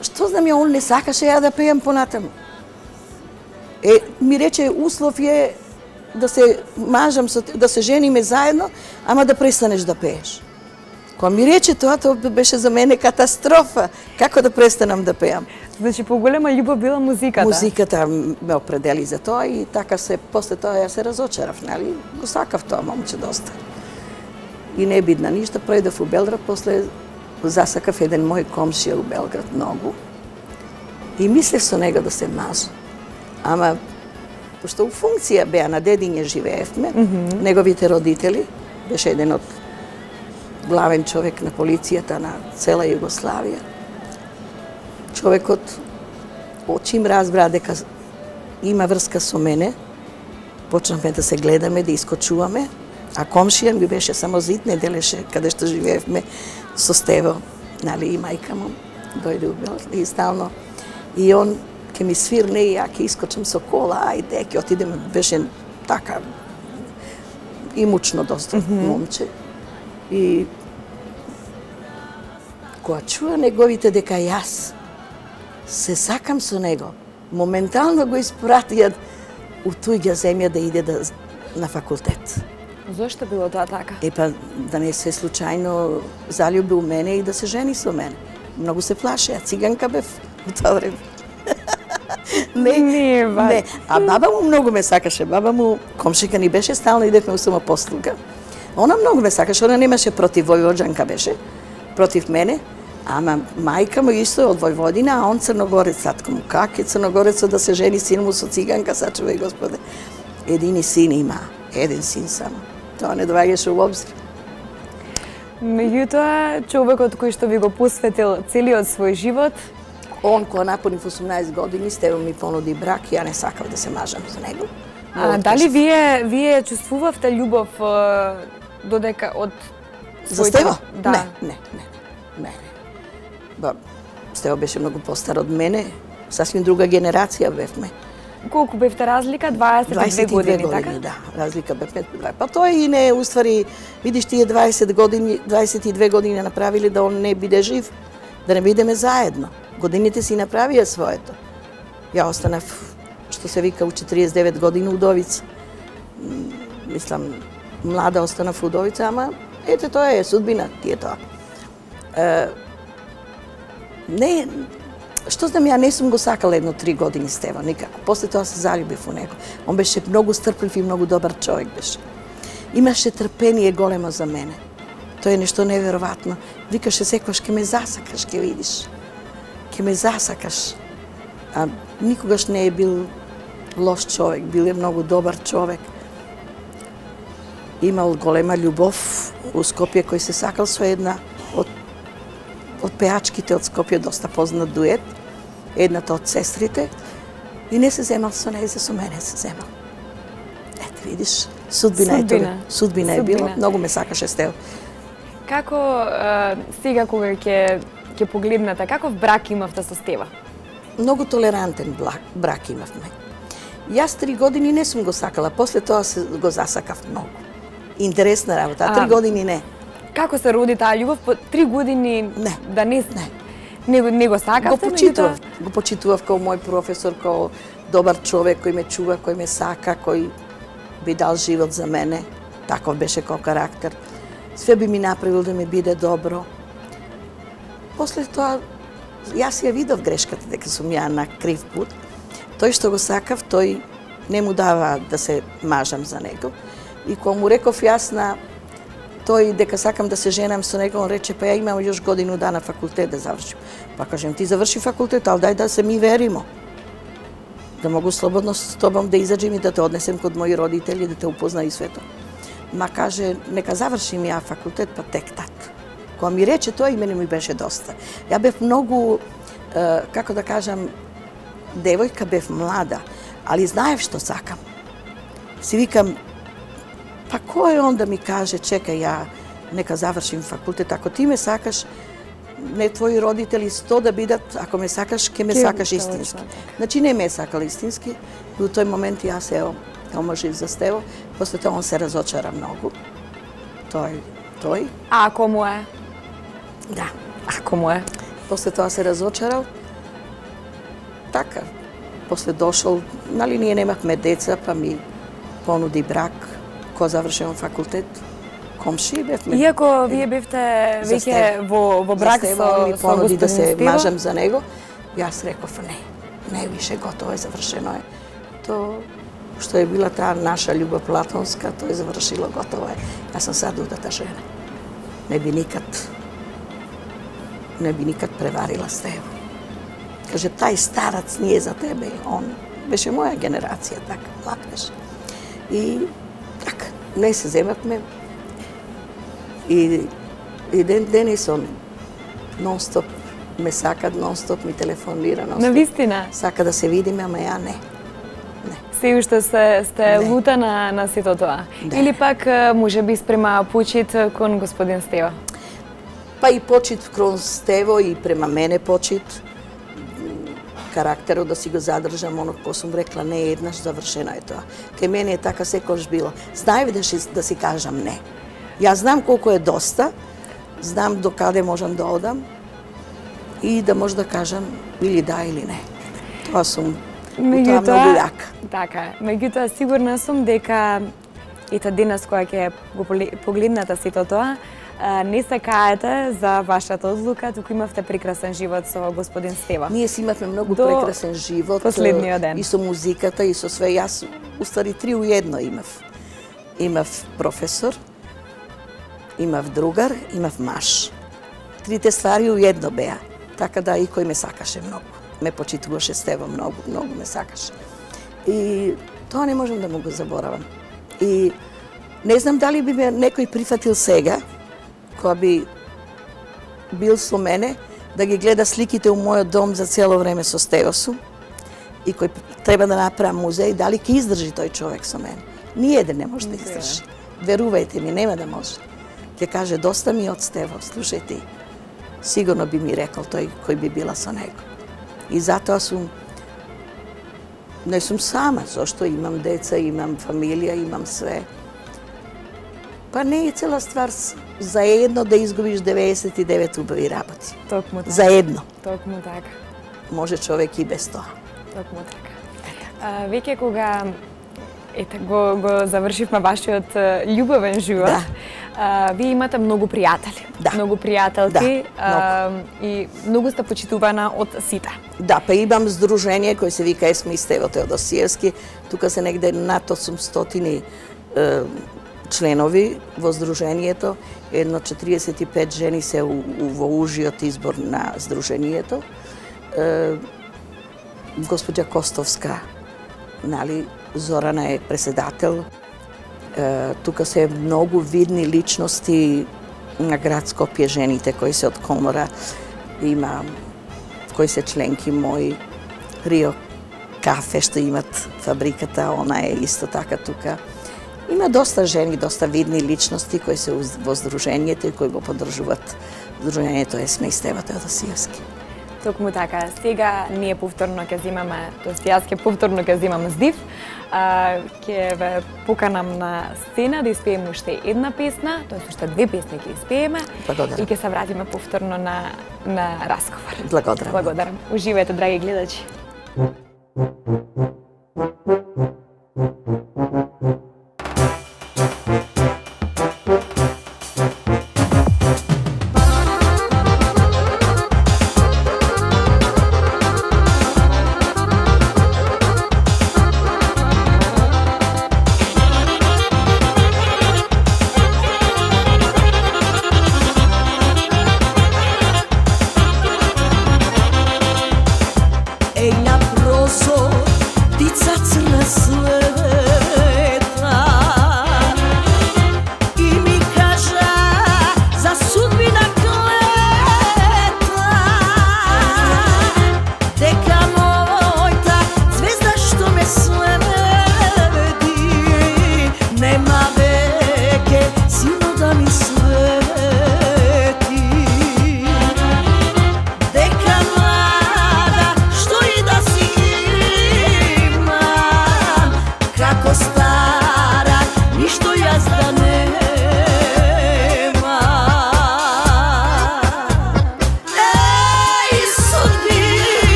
што знам ја, он не сакаше ја да пеам понатаму. Ми рече, услов е да се мажам, да се жениме заедно, ама да престанеш да пееш. Кога ми рече тоа беше за мене катастрофа. Како да престанам да пеам? Значи, поголема љубов била музиката? Музиката ме определи за тоа и така после тоа ја се разочарав, нели? Го сакав тоа момче доста. И не бидна ништо, пројдов у Белград, после засакав еден мој комшија у Белград многу. И мислев со него да се мажам. Ама, пошто у функција беа на Дедиње живеевме, неговите родители, беше еден од главен човек на полицијата на цела Југославија. Човекот, чим разбра дека има врска со мене, почнавме да се гледаме, да искочуваме, а комшија ми беше само зид, не делеше каде што живеевме со Стево, нали, и мајка му дојде у Белград и стално. И он ќе ми свирне и ја ќе искочам со кола, ајде, ќе отидеме, беше така имучно доста момче. И кога чуа неговите дека јас се сакам со него, моментално го испратија у туѓа земја да иде на факултет. Зошто било тоа така? Епа, да не се случајно заљуби у мене и да се жени со мене. Многу се плаше, а циганка бев у тоа време. Не. А баба му многу ме сакаше. Баба му, комшика ни беше, стално идевме у самопослуга. Она многу ме сакаше, она немаше против Војвоđанка беше, против мене, ама мајка му исто од Војводина, а он црногорец, татко му. Как е црногорецот да се жени син му со циганка, сачувај Господе. Едини син има, еден син само. Тоа не доаѓаше у обзир. Меѓутоа, човекот кој што ви го посветил целиот свој живот, он кога напунив 18 години, Стево ми понуди брак, ја не сакав да се мажам за него. Дали вие чувствувавте љубов додека од својот... За Стево? Да. Не. Стево беше многу постар од мене, сасвим друга генерација бевме. Колку бевте разлика? 22 години, така? Да, разлика бевме. Па тоа и не, уствари, видиш тие 22 години направили да он не биде жив, да не бидеме заедно. Годините си направија своето. Ја останав, што се вика, у 49 години удовица. Мислам, млада останав удовица, ама ете тоа е судбина, ти е тоа. Не, што знам, ја не сум го сакала едно 3 години Стево, никако. После тоа се заљубив у него. Он беше многу стрплив и многу добар човек беше. Имаше трпение големо за мене. Тоа е нешто неверојатно. Викаше секојаш ке ме засакаш, ке видиш. Ке ме засакаш. А никогаш не е бил лош човек, бил е многу добар човек. Имал голема љубов у Скопје, кој се сакал со една од пеачките од Скопје, доста познат дует, едната од сестрите, и не се земал со неја, со мене се земал. Ете, видиш, судбина е тоа. Судбина е било, многу ме сакаше Стево. Како сега кога ќе погледнете, каков брак имавте со Стева? Многу толерантен брак имавме. Јас 3 години не сум го сакала, после тоа го засакав многу. Интересна работа, а 3 години не. Како се роди таа љубов? По 3 години не. Да не го сакавте? Го почитував како мој професор, како добар човек кој ме чува, кој ме сака, кој би дал живот за мене. Таков беше како карактер. Све би ми направил да ми биде добро. После тоа, јас ја видов грешката дека сум ја на крив пут. Тој што го сакав, тој не му дава да се мажам за него. И кога му реков јас на тој дека сакам да се женам со него, он рече, па ја имам још годину дана факултет да завршим. Па кажем, ти заврши факултет, ал дај да се ми веримо. Да могу слободно с тобом да изаđem и да те однесем код мои родители, да те упозна и свето. Ма каже, нека завршим ја факултет, па тек так. Кога ми рече тоа, и мене ми беше доста. Ја бев многу, како да кажам, девојка, бев млада, али знаев што сакам. Си викам, па кој е он да ми каже, чекај, ја нека завршим факултет, ако ти ме сакаш, не твои родители 100 да бидат, ако ме сакаш, ке ме сакаш истински. Значи не ме сакал истински, и у тој момент јас се омажив за Стево, после тоа он се разочара многу. Тој. А ако му е? Да. Ако му е? После тоа се разочарал. Така. После дошол, нали ние немавме деца, па ми понуди брак, кога завршувам факултет. Комши бевме. Иако вие бевте веќе во брак со ми понуди да се Стево? мажам за него, јас реков не више, готово е, завршено е. То што е била таа наша љубов платонска, тоа е завршило, готово е. Јас сум сад удата жена. Не би никад преварила Стево. Каже, тај старац не е за тебе, он беше моја генерација, така, млад беше. И така, не се земавме. И ден денес он нон-стоп ме сака, нон-стоп ми телефонира, нон-стоп. Навистина? Сака да се видиме, ама ја не. Се уште сте лута на сето тоа? Да. Или пак може би спрема почит кон господин Стево? Па и почит кон Стево и према мене почит. Карактерот да си го задржам, оно кој сум рекла не еднаш, завршено е тоа. Кај мене е така секојаш било. Знаев да си кажам не. Јас знам колку е доста, знам до каде можам да одам и да може да кажам или да или не. Тоа сум, тоа многу јака. Така, меѓутоа сигурна сум дека ете денес кога ќе го погледнете сето тоа, не се каете за вашата одлука, туку имавте прекрасен живот со господин Стево. Ние си имавме многу прекрасен живот. Последниот ден. И со музиката, и со све. Јас, уствари, 3 у 1 имав. Имав професор, имав другар, имав маж. Трите ствари у едно беа. Така да и кој ме сакаше многу. Ме почитуваше Стево многу, многу ме сакаше. И тоа не можам да му го заборавам. И не знам дали би ме некој прифатил сега, кога би бил со мене, да ги гледа сликите у мојот дом за цело време со Стево сум, и кој треба да направам музеј, дали ќе издржи тој човек со мене. Ниеден не може да издржи. Верувајте ми, нема да може. Ќе каже, доста ми од Стево, слушај ти. Сигурно би ми рекол тој кој би била со него. И затоа не сум сама, зашто имам деца, имам фамилија, имам све. Па не е цела ствар заедно да изгубиш 99 убави работи. Токму така. Заедно. Токму така. Може човек и без тоа. Токму така. Веќе кога го завршивме вашиот љубовен живот, Вие имате многу пријатели, многу пријателки и многу сте почитувана од сите. Да, па имам здружение кој се вика Есма и Стево Теодосиевски. Тука се негде над 800 членови во здружението. Едно 45 жени се во ужиот избор на здружението. Госпоѓа Костовска, нали, Зорана е преседател. Тука се многу видни личности на град Скопје, жените кои се од комора. Има кои се членки мои, Рио Кафе што имат фабриката, она е исто така тука. Има доста жени, доста видни личности кои се во здружението и кои го поддржуваат здружението Есма и Стево Теодосиевски. Токму така, сега ние повторно ќе земаме, тоест јас ќе повторно ќе земам здив, ќе ве поканам на сцена да испееме уште една песна, тоест уште две песни ќе испееме и ќе се вратиме повторно на разговор. Благодарам. Благодарам. Уживајте, драги гледачи. Ей на прозор, птица црна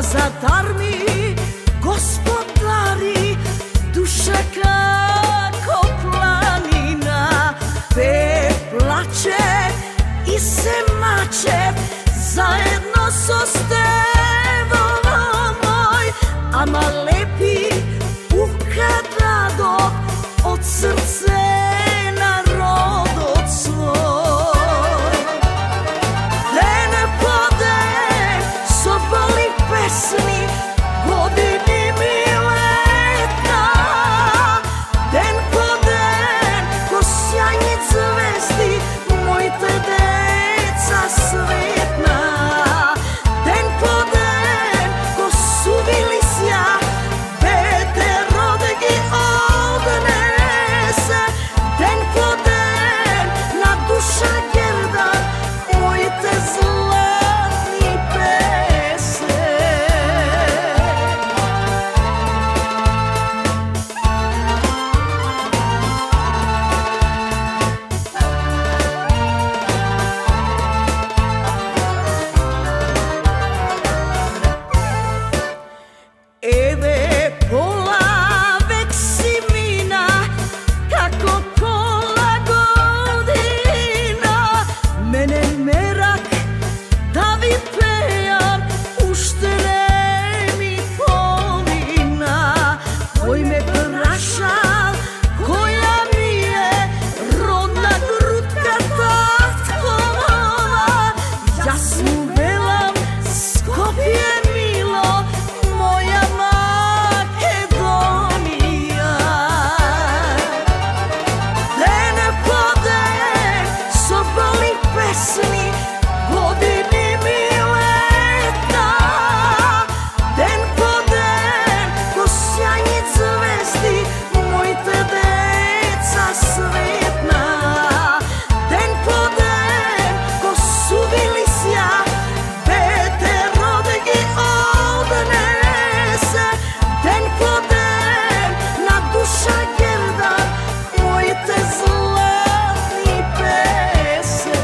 Nazadar mi gospodari, duša kako planina, pe plače i se mače, zajedno so stevova moj, ama lepi ukradado od srce narodot svoj. Den po den so boli pesni, godini mi leta, den po den ko sjajni zvezdi, mojte deca svetna, den po den ko suvili sja, bete rodegi odnese, den po den na duša gerda, mojte zlatni pese. Eve pola vek si mina, kako pola godina, mene merak da vi pejam, ušte ne mi polina, koj me prašal, koja mi je rodna grutka tatkova, ja mu velam Skopje milo, moja Makedonija. Den po den so boli pesni, godini mi leta, den po den ko sjajni zvezdi, mojte deca svetna, den po den ko suvili sja, bete rodegi odnese, den po den na duša gerda, mojte zlatni pese.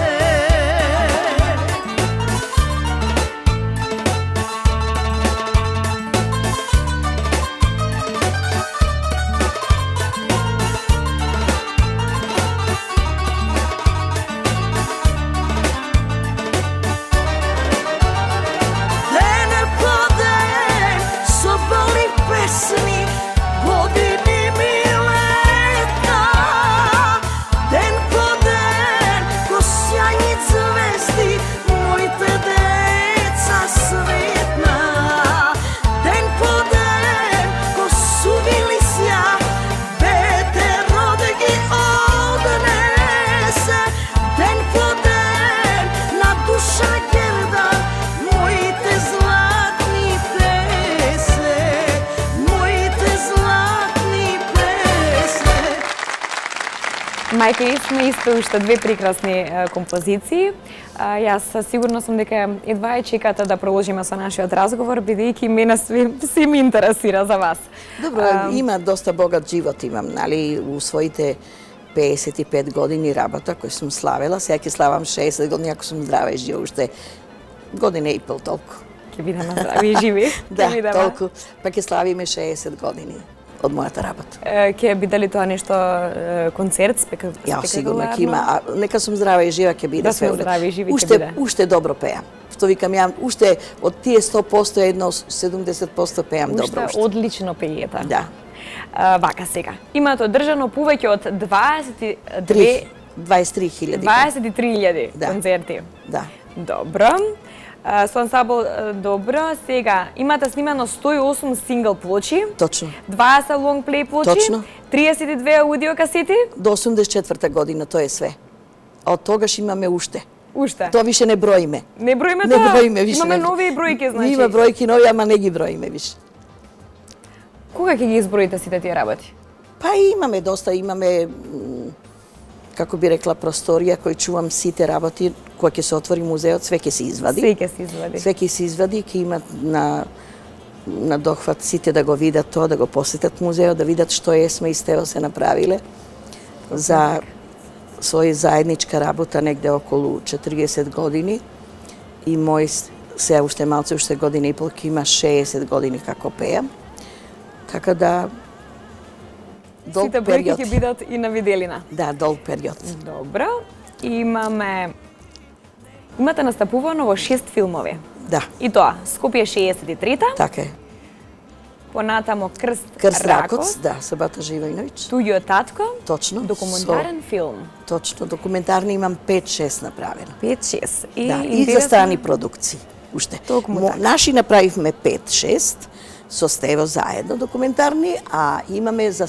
Den po den so boli pesni, godini mi leta, den po den ko sjajni zvezdi, mojte deca svetna, den po den ko suvili sja, bete rodegi odnese, den po den na duša gerda, mojte zlatni pese, mojte zlatni pese. Мајка, сме исто уште две прекрасни композиции. Јас сигурно сум дека едва ја чекате да продолжиме со нашиот разговор, бидејќи мене се ми интересира за вас. Добро, има доста богат живот имам, нали, у своите 55 години работа кој сум славела, сега ќе славам 60 години ако сум здрава и жива, уште година и пол толку. Ќе бидеме здрави и живи. Да, толку, па ќе славиме 60 години од мојата работа. Ќе биде ли тоа нешто концерт, Ја сигурно ќе има, а нека сум здрава и жива ќе биде Да све. сме здрави и живи ќе биде. Уште добро пеам. Што викам ја, уште од тие 100% едно 70% пеам добро. Уште одлично пеете. Да. Вака сега. Имате одржано повеќе од 23.000 Да. концерти. Да. Добро. Со ансамбл добро. Сега имате снимано 108 сингл плочи. Точно. 20 лонг плей плочи. Точно. 32 аудио касети. До 84 година тоа е све. А од тогаш имаме уште. Уште. Тоа више не броиме. Не броиме Не тоа. броиме више. Имаме нови бројки, значи. Има бројки нови, ама не ги броиме више. Кога ќе ги изброите сите тие работи? Па имаме доста, имаме како би рекла просторија кој чувам сите работи, кога ќе се отвори музеот, све ќе се извади. Све ќе се извади. Све ќе се извади, ќе имат на дохват сите да го видат тоа, да го посетат музеот, да видат што сме и Стево се направиле за своја заедничка работа негде околу 40 години и мој Сега уште малце, уште година и пол, има 60 години како пеам. Така да долг Сите бројки период. ќе бидат и на виделина. Да, долг период. Добро. Имате настапувано во 6 филмови. Да, И тоа, Скопје 63-та, така е. понатамо Крст Крст Ракоц, Ракоц, да, Сабата Живајновиќ. Туѓо е татко, Точно. документарен филм. Точно, документарни имам 5-6 направено. 5-6. И, Да, и за страни продукции. Уште. Токму така. Наши направивме 5-6 со Стево заедно документарни, а имаме за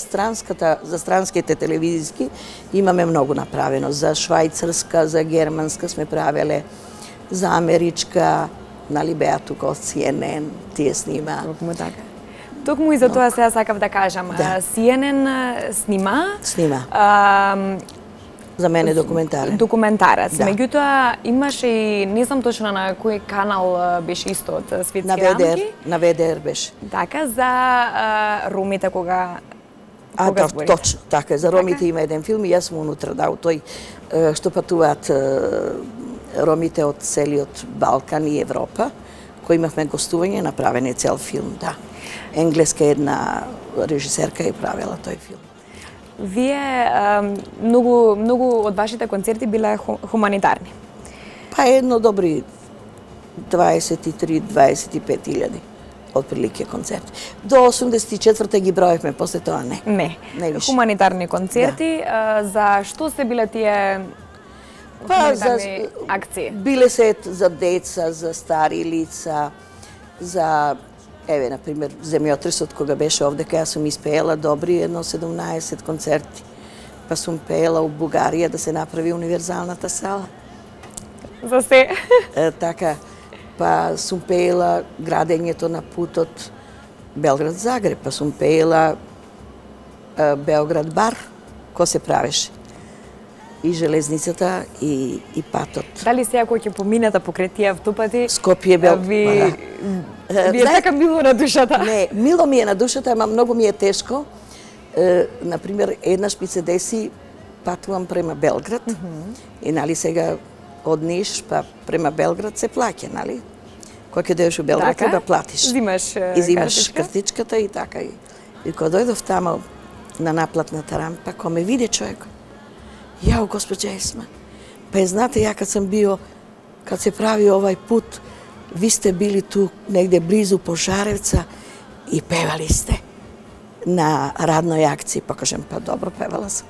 странските телевизиски имаме многу направено. За швајцарска, за германска сме правеле, за америчка, нали беа тука од CNN, тие снима. Токму така. Токму и за тоа сега сакав да кажам. Да. CNN снима. Снима. а, За мене документарен. Документарец. Да. Меѓутоа имаше и не знам точно на кој канал беше исто од На светски ВДР, рамки. на ВДР беше. Така за ромите кога Да, зборите? точно, така е. За ромите има еден филм и јас сум унутра, да, тој што патуваат ромите од целиот Балкан и Европа, кои имавме гостување, направен е цел филм, да. Енглеска една режисерка е правила тој филм. Вие многу од вашите концерти биле хуманитарни. Па едно добри 23-25 илјади отприлике концерти. До 84-та ги броевме, после тоа не. Не. Не више. Хуманитарни концерти. За што се биле тие хуманитарни акции? Биле се за деца, за стари лица, за еве на пример земјотресот кога беше овде кај јас сум испеела добри едно 17 концерти. Па сум пеела у Бугарија да се направи универзалната сала. За се. Така, па сум пеела градењето на путот Белград-Загреб, па сум пеела Белград-Бар, кој се правеше. И железницата, и патот. Дали сега кој ќе поминете покрај тие автопати? Скопје бел. Ви е така мило на душата. Не, мило ми е на душата, ама многу ми е тешко. Например, еднаш ми се деси, патувам према Белград, и нали сега од Ниш па према Белград се плаќа, нали? Кога ќе дојдеш у Белград, треба платиш. Зимаш И зимаш картичка? картичката и така. И кога дојдов тамо на наплатната рампа, кога ме виде човек, јао, госпоđа Есма, па знаете, ја кад сам био, кад се прави овај пут, ви сте били ту негде близу Пожаревца и певали сте на радној акција. Па кажем, па добро, певала сам.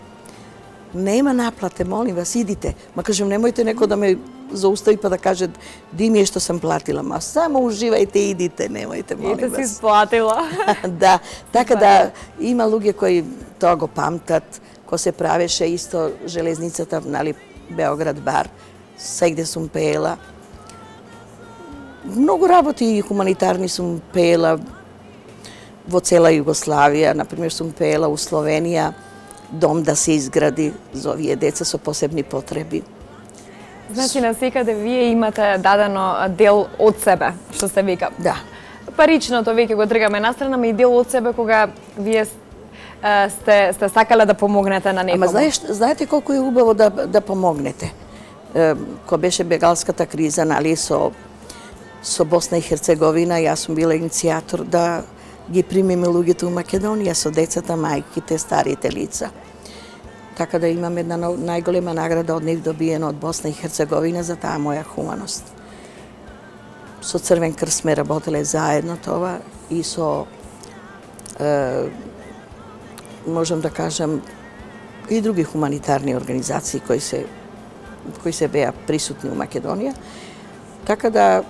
Нема наплате, молим вас, идите. Ма кажем, немојте некој да ме заустави па да каже ди ми е што сам платила. Ма само уживајте, идите, немојте, молим Ете си вас. сплатила. Да, така да има луѓе кои тоа го памтат, кој се правеше исто железницата, нали, Белград-Бар, сегде сум пеела. Многу работи хуманитарни сум пеела во цела Југославија, например сум пеела у Словенија, дом да се изгради за овие деца со посебни потреби. Значи, на секаде вие имате дадено дел од себе, што се вика. Да. Паричното веќе го тргаме настрана, ама и дел од себе кога вие сте сакале да помогнете на некому. Ама знаете колку е убаво да помогнете. Кога беше бегалската криза, нали, со Босна и Херцеговина, јас сум била иницијатор да ги примиме луѓето у Македонија со децата, мајките, старите лица. Така да имам една најголема награда од нив добиена од Босна и Херцеговина за таа моја хуманост. Со Црвен крст сме работеле заедно тоа и со можам да кажам и други хуманитарни организации кои се беа присутни у Македонија. Така да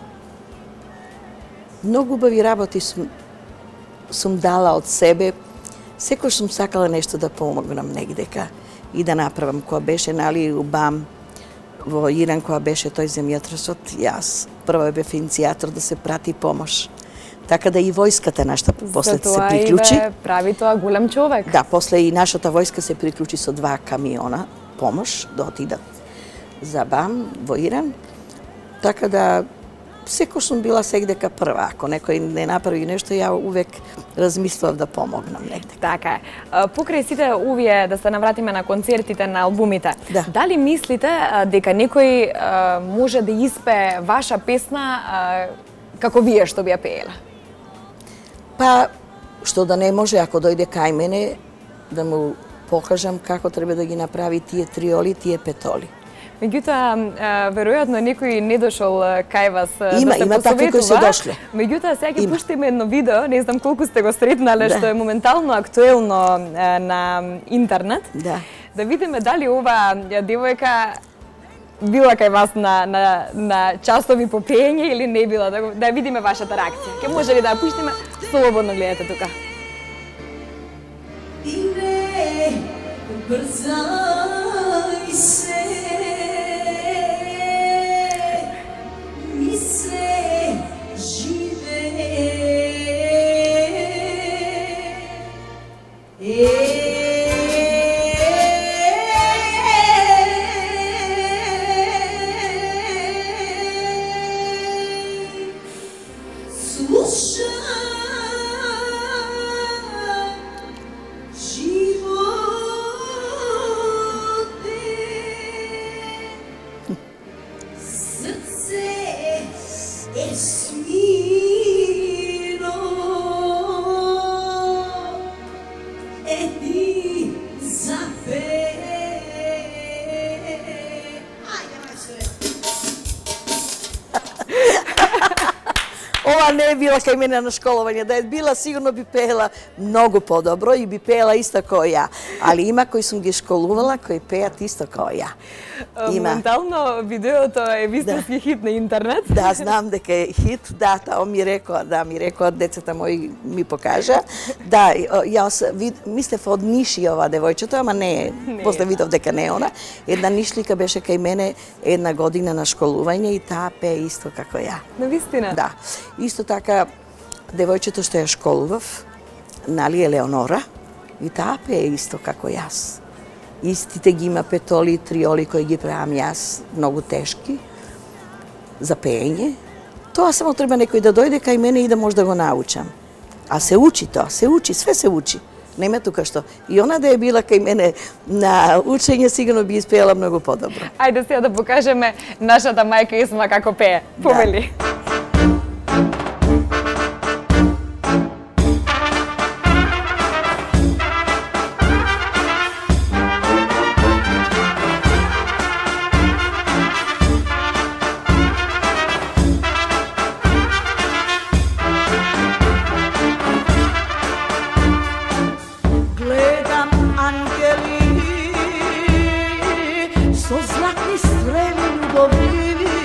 многу убави работи сум дала од себе. Секој сум сакала нешто да помогнам негдека и да направам. Кога беше, нали, у БАМ во Иран, кога беше тој земјотресот, јас прво бев иницијатор да се прати помош. Така да и војската нашата после се приклучи. За тоа и прави тоа голем човек. Да, после и нашата војска се приклучи со 2 камиона помош да отидат за БАМ во Иран. Така да секој сум била сегдека прва. Ако некој не направи нешто, ја увек размислував да помогнам негде. Така е. Покрај сите овие, да се навратиме на концертите, на албумите, Да. дали мислите дека некој може да испее ваша песна како вие што би ја пеела? Па, што да не може, ако дојде кај мене, да му покажам како треба да ги направи тие триоли, тие петоли. Меѓутоа, веројатно некој не дошол кај вас Има, да се има такви кои се посоветува. дошле. Меѓутоа, сега ќе Има. пуштиме едно видео, не знам колку сте го сретнале, Да. што е моментално актуелно на интернет. Да. Да видиме дали ова девојка била кај вас на часови по пеење или не била, да видиме вашата реакција. Ке може ли да ја пуштиме? Слободно гледате тука. Ире, брзај се, ми се живее. Ова не е била кај мене на школување, да е била сигурно би пеела многу подобро и би пеела исто кој ја. Али има кои сум ги школувала, кои пеат исто кој ја. Има. Моментално видеото е вистински хит на интернет. Да, знам дека е хит, да, тоа ми рекоа децата мои ми покажа. Да, јас мислев од Ниши ова девојчето, ама не е, после видов дека не е она. Една нишлика беше кај мене една година на школување и таа пее исто како ја. Навистина? Да. Исто така, девојчето што ја школував, нали Елеонора, и таа пее исто како јас. Истите ги има петоли и триоли кои ги правам јас, многу тешки, за пеење. Тоа само треба некој да дојде кај мене и да може да го научам. А се учи тоа, се учи, све се учи. Нема тука што. И она да е била кај мене на учење, сигурно би испеела многу подобро. Ајде сега да покажеме нашата мајка Есма како пее. Повели. Гледам ангели со златни стрели љубовливи.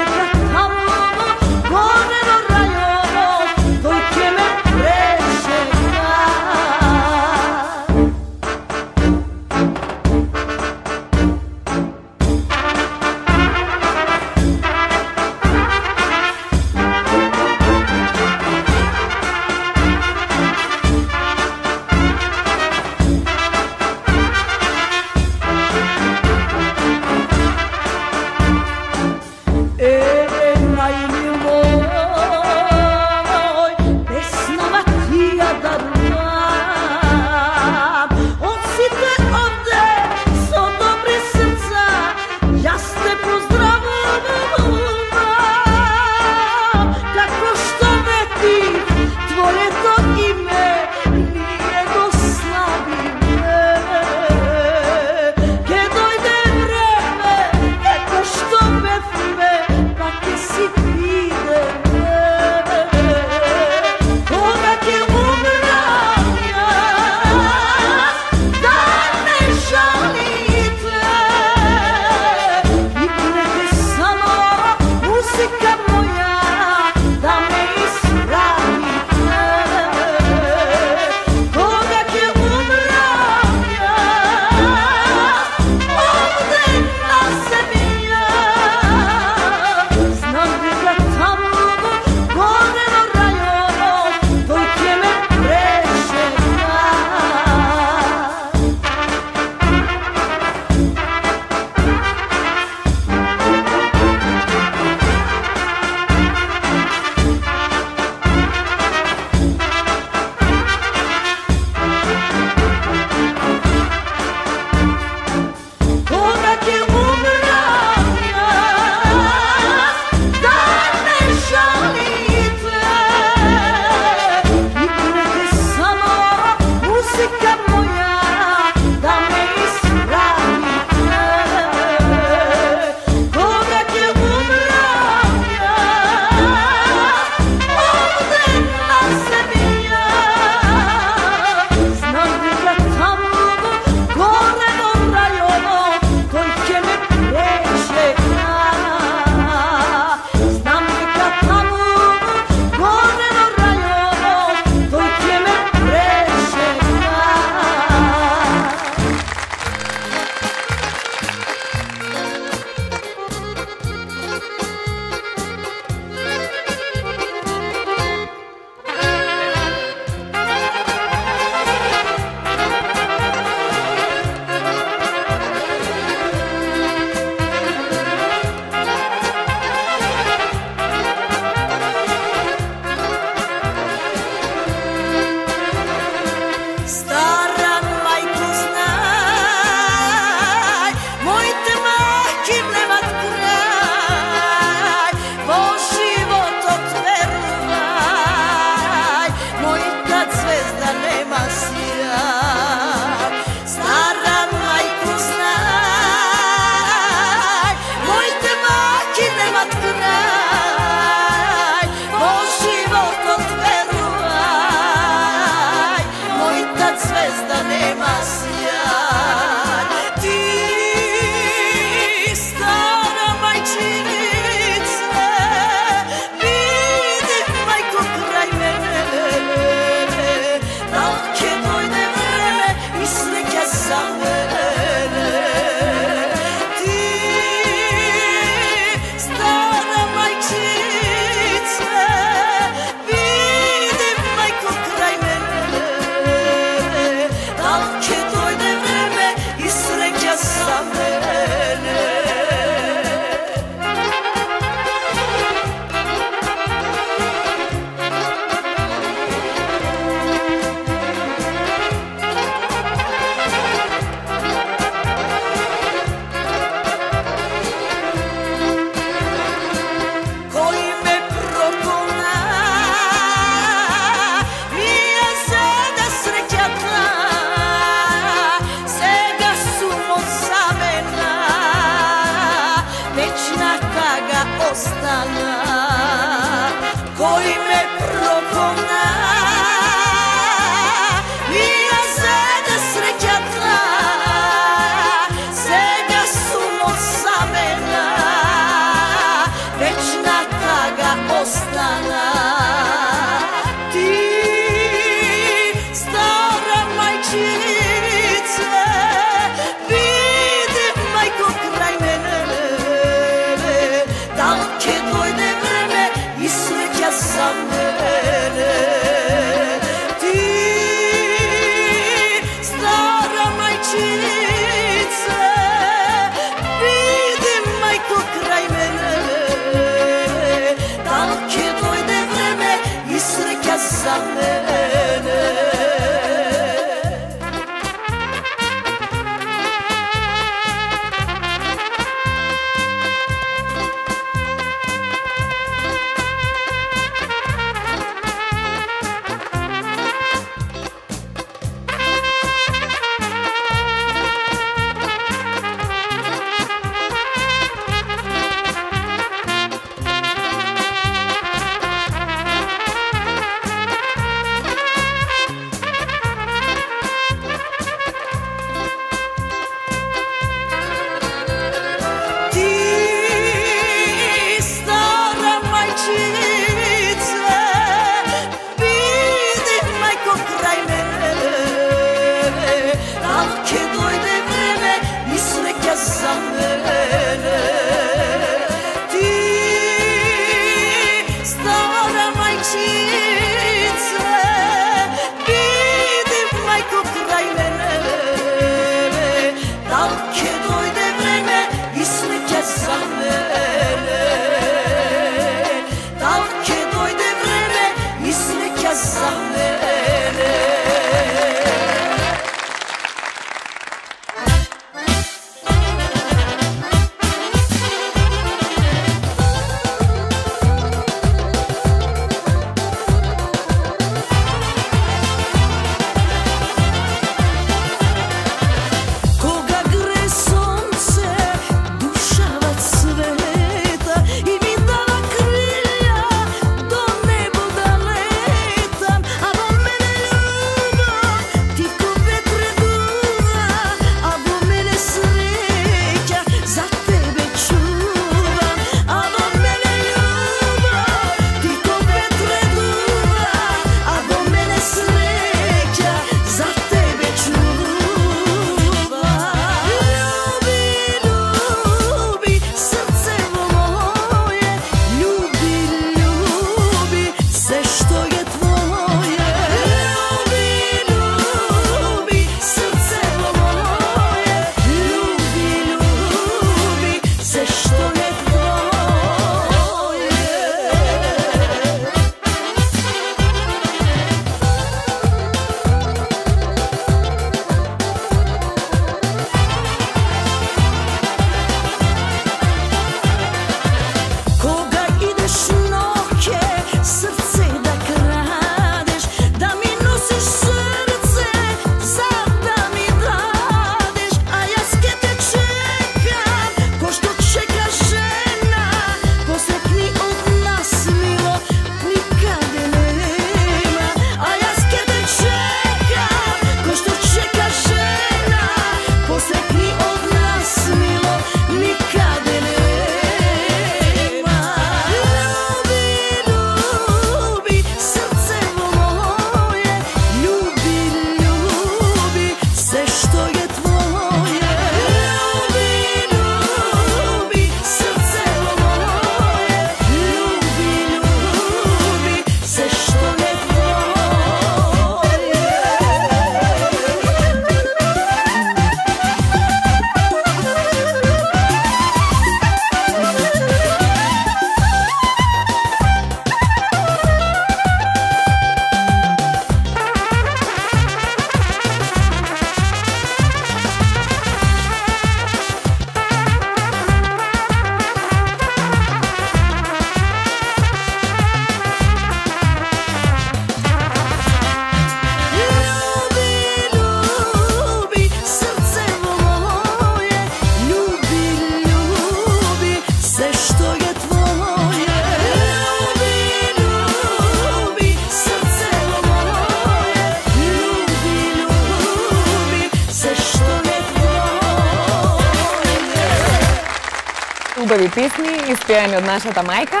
Убави песни, испеани од нашата мајка.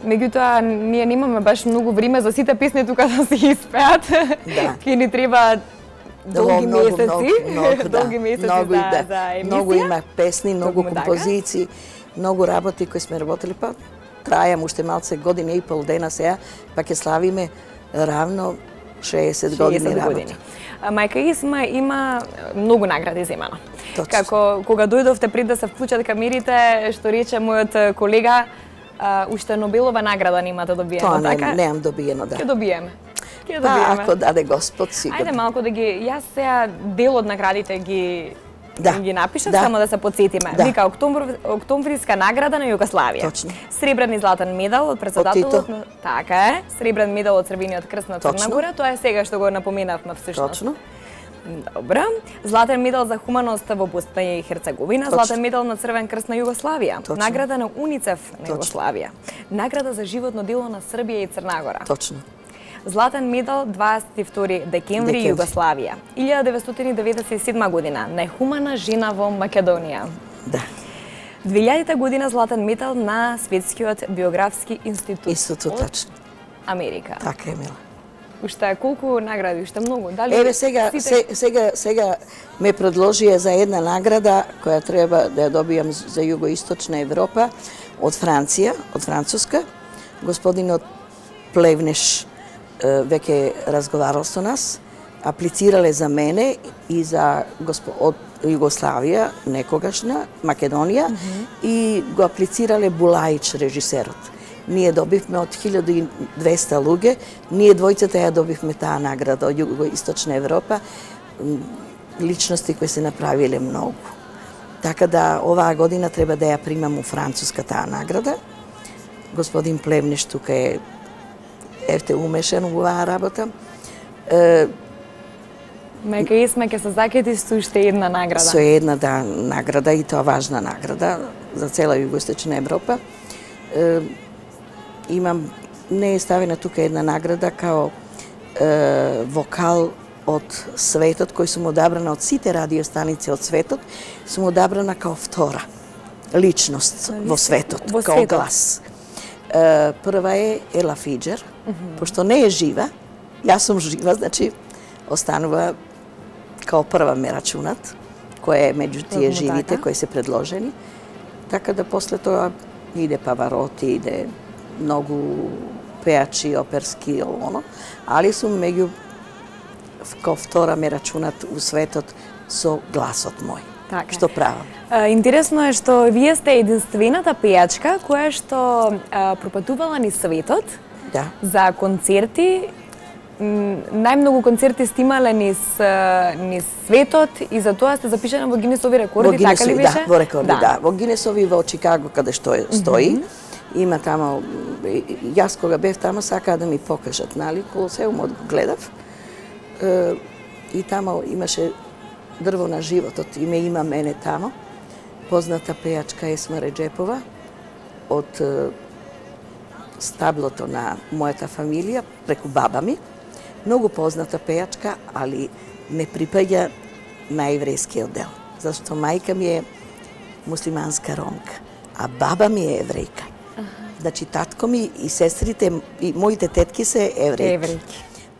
Меѓутоа, ние немаме баш многу време за сите песни тука да се испеат. Да. Ке ни треба долги месеци. Долги месеци за емисија. Многу има песни, многу Токму така. композиции, многу работи кои сме работели, па трајам уште малце година и пол дена сега, па ќе славиме равно 60 години работа. Мајка Исма има многу награди земано. Точно. Како кога дојдовте пред да се вклучат камерите, што рече мојот колега, уште Нобелова награда немате добиено, Тоа така? неам добиено, да. Ќе добиеме. Ќе Па, добиеме. ако даде Господ, сигурно. Ајде малку да ги, јас сега дел од наградите ги напишав, Да. само да се подсетиме. Да. Вика Октомвриска награда на Југославија. Точно. Сребрен и златен медал од председателот Тито. на... Така е. Сребрен медал од Црвениот крст на Црна Точно. Гора. Тоа е сега што го напоменавме всушност. Точно. Добра. Златен медал за хуманост во Босна и Херцеговина, Точно. златен медал на Црвен крст на Југославија, Точно. награда на УНИЦЕФ на Точно. Југославија, награда за животно дело на Србија и Црна Гора. Точно. Златен медал 22 декември Југославија, 1997 година, најхумана жена во Македонија. Да. 2000 година златен медал на Светскиот биографски институт. Истото од точно. Америка. Така е, мила. Уште колку награди, уште многу. Дали Еве сега, сега ме предложија за една награда која треба да ја добијам за југоисточна Европа од Франција, од Француска. Господинот Плевнеш веќе разговарал со нас, аплицирале за мене и за од Југославија, некогашна, Македонија, и го аплицирале Булаич, режисерот. Ние добивме од 1200 луѓе, ние двојцата ја добивме таа награда од Југоисточна Европа, личности кои се направиле многу. Така да оваа година треба да ја примам у Француска таа награда. Господин Плевнеш тука е умешан во оваа работа. Мајка Исма ќе се закети со уште една награда. Со една награда и тоа важна награда за цела Југоисточна Европа. Имам, не е ставена тука една награда као вокал од светот, кој сум одабрана од сите радиостаници од светот, сум одабрана као втора личност во светот, као глас. Прва е Ела Фиџер, пошто не е жива, јас сум жива, значи останува као прва ме рачунат, која е меѓу тие живите кои се предложени. Така да после тоа иде Павароти, иде многу пеачи, оперски, оно, али сум меѓу као втора ме рачунат у светот со гласот мој. Така. Што правам? Интересно е што вие сте единствената пејачка која што пропатувала низ светот за концерти. Најмногу концерти сте имале низ светот и за тоа сте запишана во Гинесови рекорди, така ли беше? Да, во рекорди, да. Во Гинесови во Чикаго, каде што стои, има тамо, јас кога бев тамо сакаа да ми покажат, нали, Колосеумот го гледав, и тамо имаше дрво на животот и ме има мене тамо, позната пејачка Есма Реджепова од стаблото на мојата фамилија, преку баба ми, многу позната пејачка, али не припаѓа на еврејскиот дел, зашто мајка ми е муслиманска ромка, а баба ми е еврејка. Значи, татко ми и сестрите, и моите тетки се еврејки.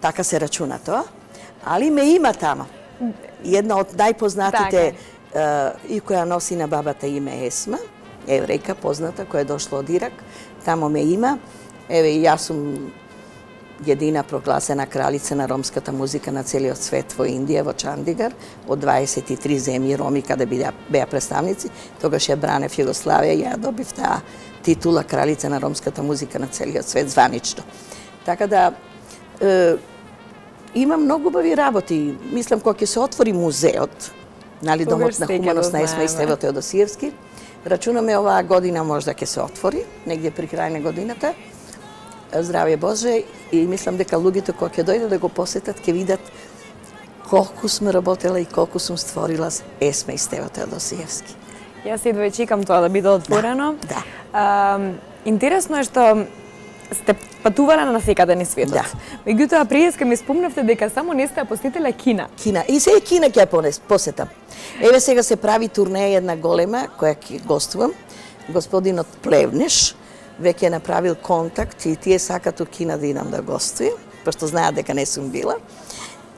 Така се рачуна тоа, али ме има тамо. Една од најпознатите и која носи на бабата име Есма, еврејка позната, која е дошла од Ирак, тамо ме има. Еве, и јас сум едина прогласена кралица на ромската музика на целиот свет во Индија, во Чандигар, од 23 земји роми каде беа представници. Тогаш ја бранев Југославија и ја добив таа титула кралица на ромската музика на целиот свет званично. Така да има многу убави работи. Мислам кога ќе се отвори музеот, нали, домот на хуманост на Есма и Стево Теодосиевски, рачунаме оваа година можда ќе се отвори, негде при крај на годината. Здравје Боже, и мислам дека луѓето кога ќе дојдат да го посетат ќе видат колку сме работела и колку сум створила Есма и Стево Теодосиевски. Јас едва и чекам тоа да биде отворено. Да. Интересно е што сте патувала на секаде низ светот. Да. Меѓутоа, преска ми спомнавте дека само не сте посетила Кина. Кина. И сега Кина ќе ја посетам. Еве сега се прави турнеја една голема која ќе гостувам. Господинот Плевнеш веќе направил контакт и тие сакат у Кина да идам да гостувам, пошто знаат дека не сум била.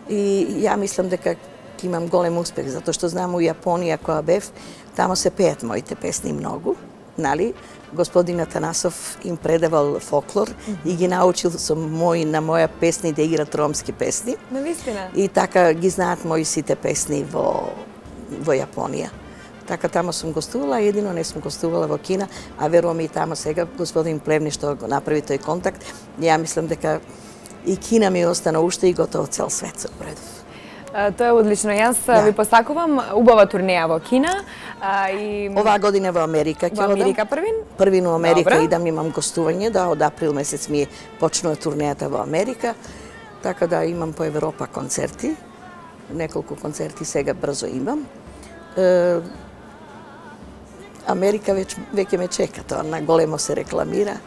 И ја мислам дека ќе имам голем успех, затоа што знам у Јапонија која бев, тамо се пеат моите песни многу, нали? Господин Атанасов им предавал фолклор и ги научил на моја песни да играт ромски песни. Навистина. И така ги знаат мои сите песни во Јапонија. Така тамо сум гостувала, едино не сум гостувала во Кина, а верувам и тамо сега господин Плевни што го направи тој контакт. Ја мислам дека и Кина ми остана уште и готово цел свет се предав. Тоа е одлично. Јас ви посакувам убава турнеја во Кина. Оваа година во Америка ќе одам. Во Америка првин? Првин во Америка Добре. идам, имам гостување, да, од април месец ми почнува турнејата во Америка, така да имам по Европа концерти, неколку концерти сега брзо имам. Америка веќе ме чека, тоа на големо се рекламира.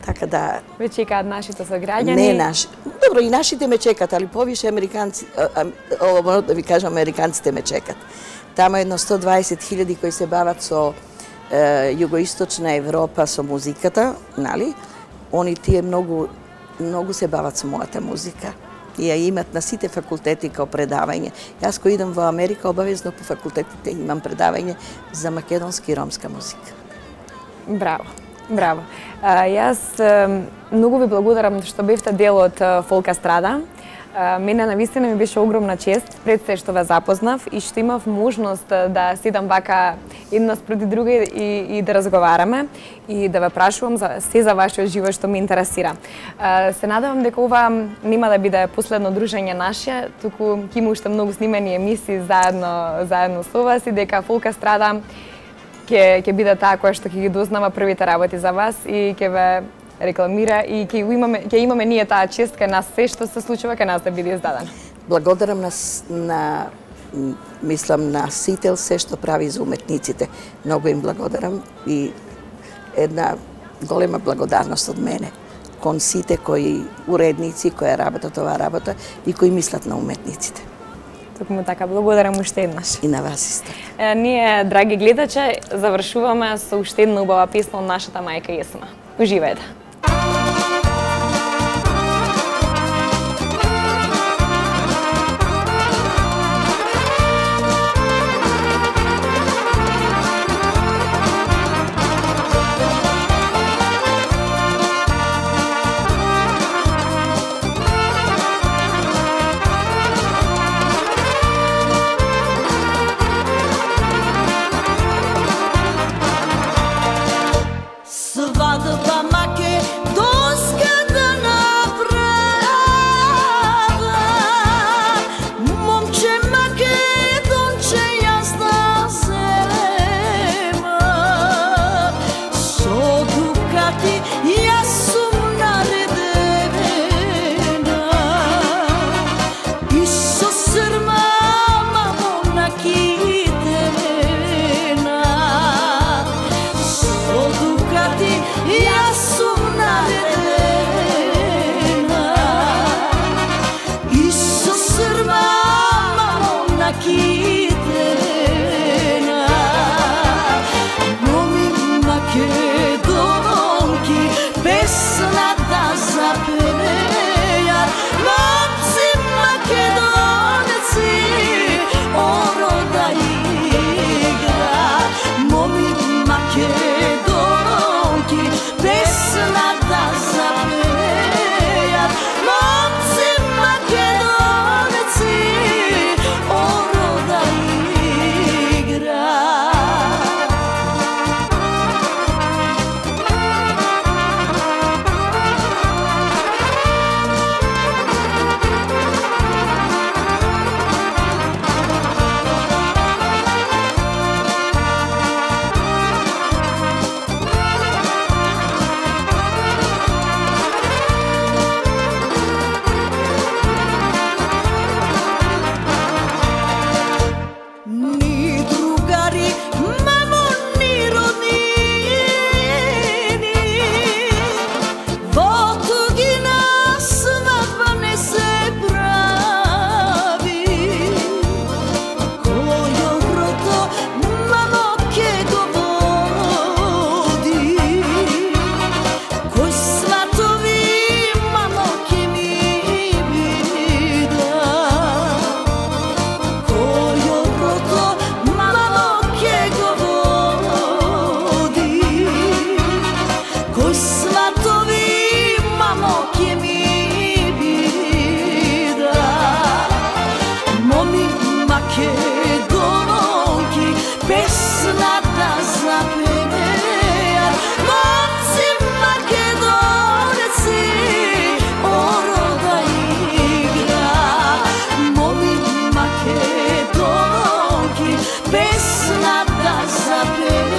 Така да Ве чекаат нашите сограѓани? Не наши. Добро, и нашите ме чекат, али повише американци, да ви кажам, американците ме чекат. Тамо едно 120.000 кои се бават со југоисточна Европа со музиката, нали? Они тие многу се бават со мојата музика. И ја имат на сите факултети као предавање. Јас кој идам во Америка, обавезно по факултетите имам предавање за македонски и ромска музика. Браво. Браво. Јас многу ви благодарам што бевте дел од Фолк Естрада. Мене навистина ми беше огромна чест пред се што ве запознав и што имав можност да седам вака една спроти друга и да разговараме и да ве прашувам за вашиот живот што ме интересира. Се надевам дека ова нема да биде последно дружење наше, туку ќе има уште многу снимани емисии заедно со вас и дека Фолк Естрада ќе биде таа која што ќе ги дознава првите работи за вас и ќе ве рекламира и ќе имаме ние таа чест кај нас се што се случува кај нас да биде издадено. Благодарам мислам на Сител се што прави за уметниците. Многу им благодарам и една голема благодарност од мене кон сите кои уредници кои работат оваа работа и кои мислат на уметниците. Токму така, благодарам уште еднаш. И на вас исто. Ние, драги гледачи, завршуваме со уште една убава песна од нашата мајка Есма. Уживајте! Свадба маке песната за тебе.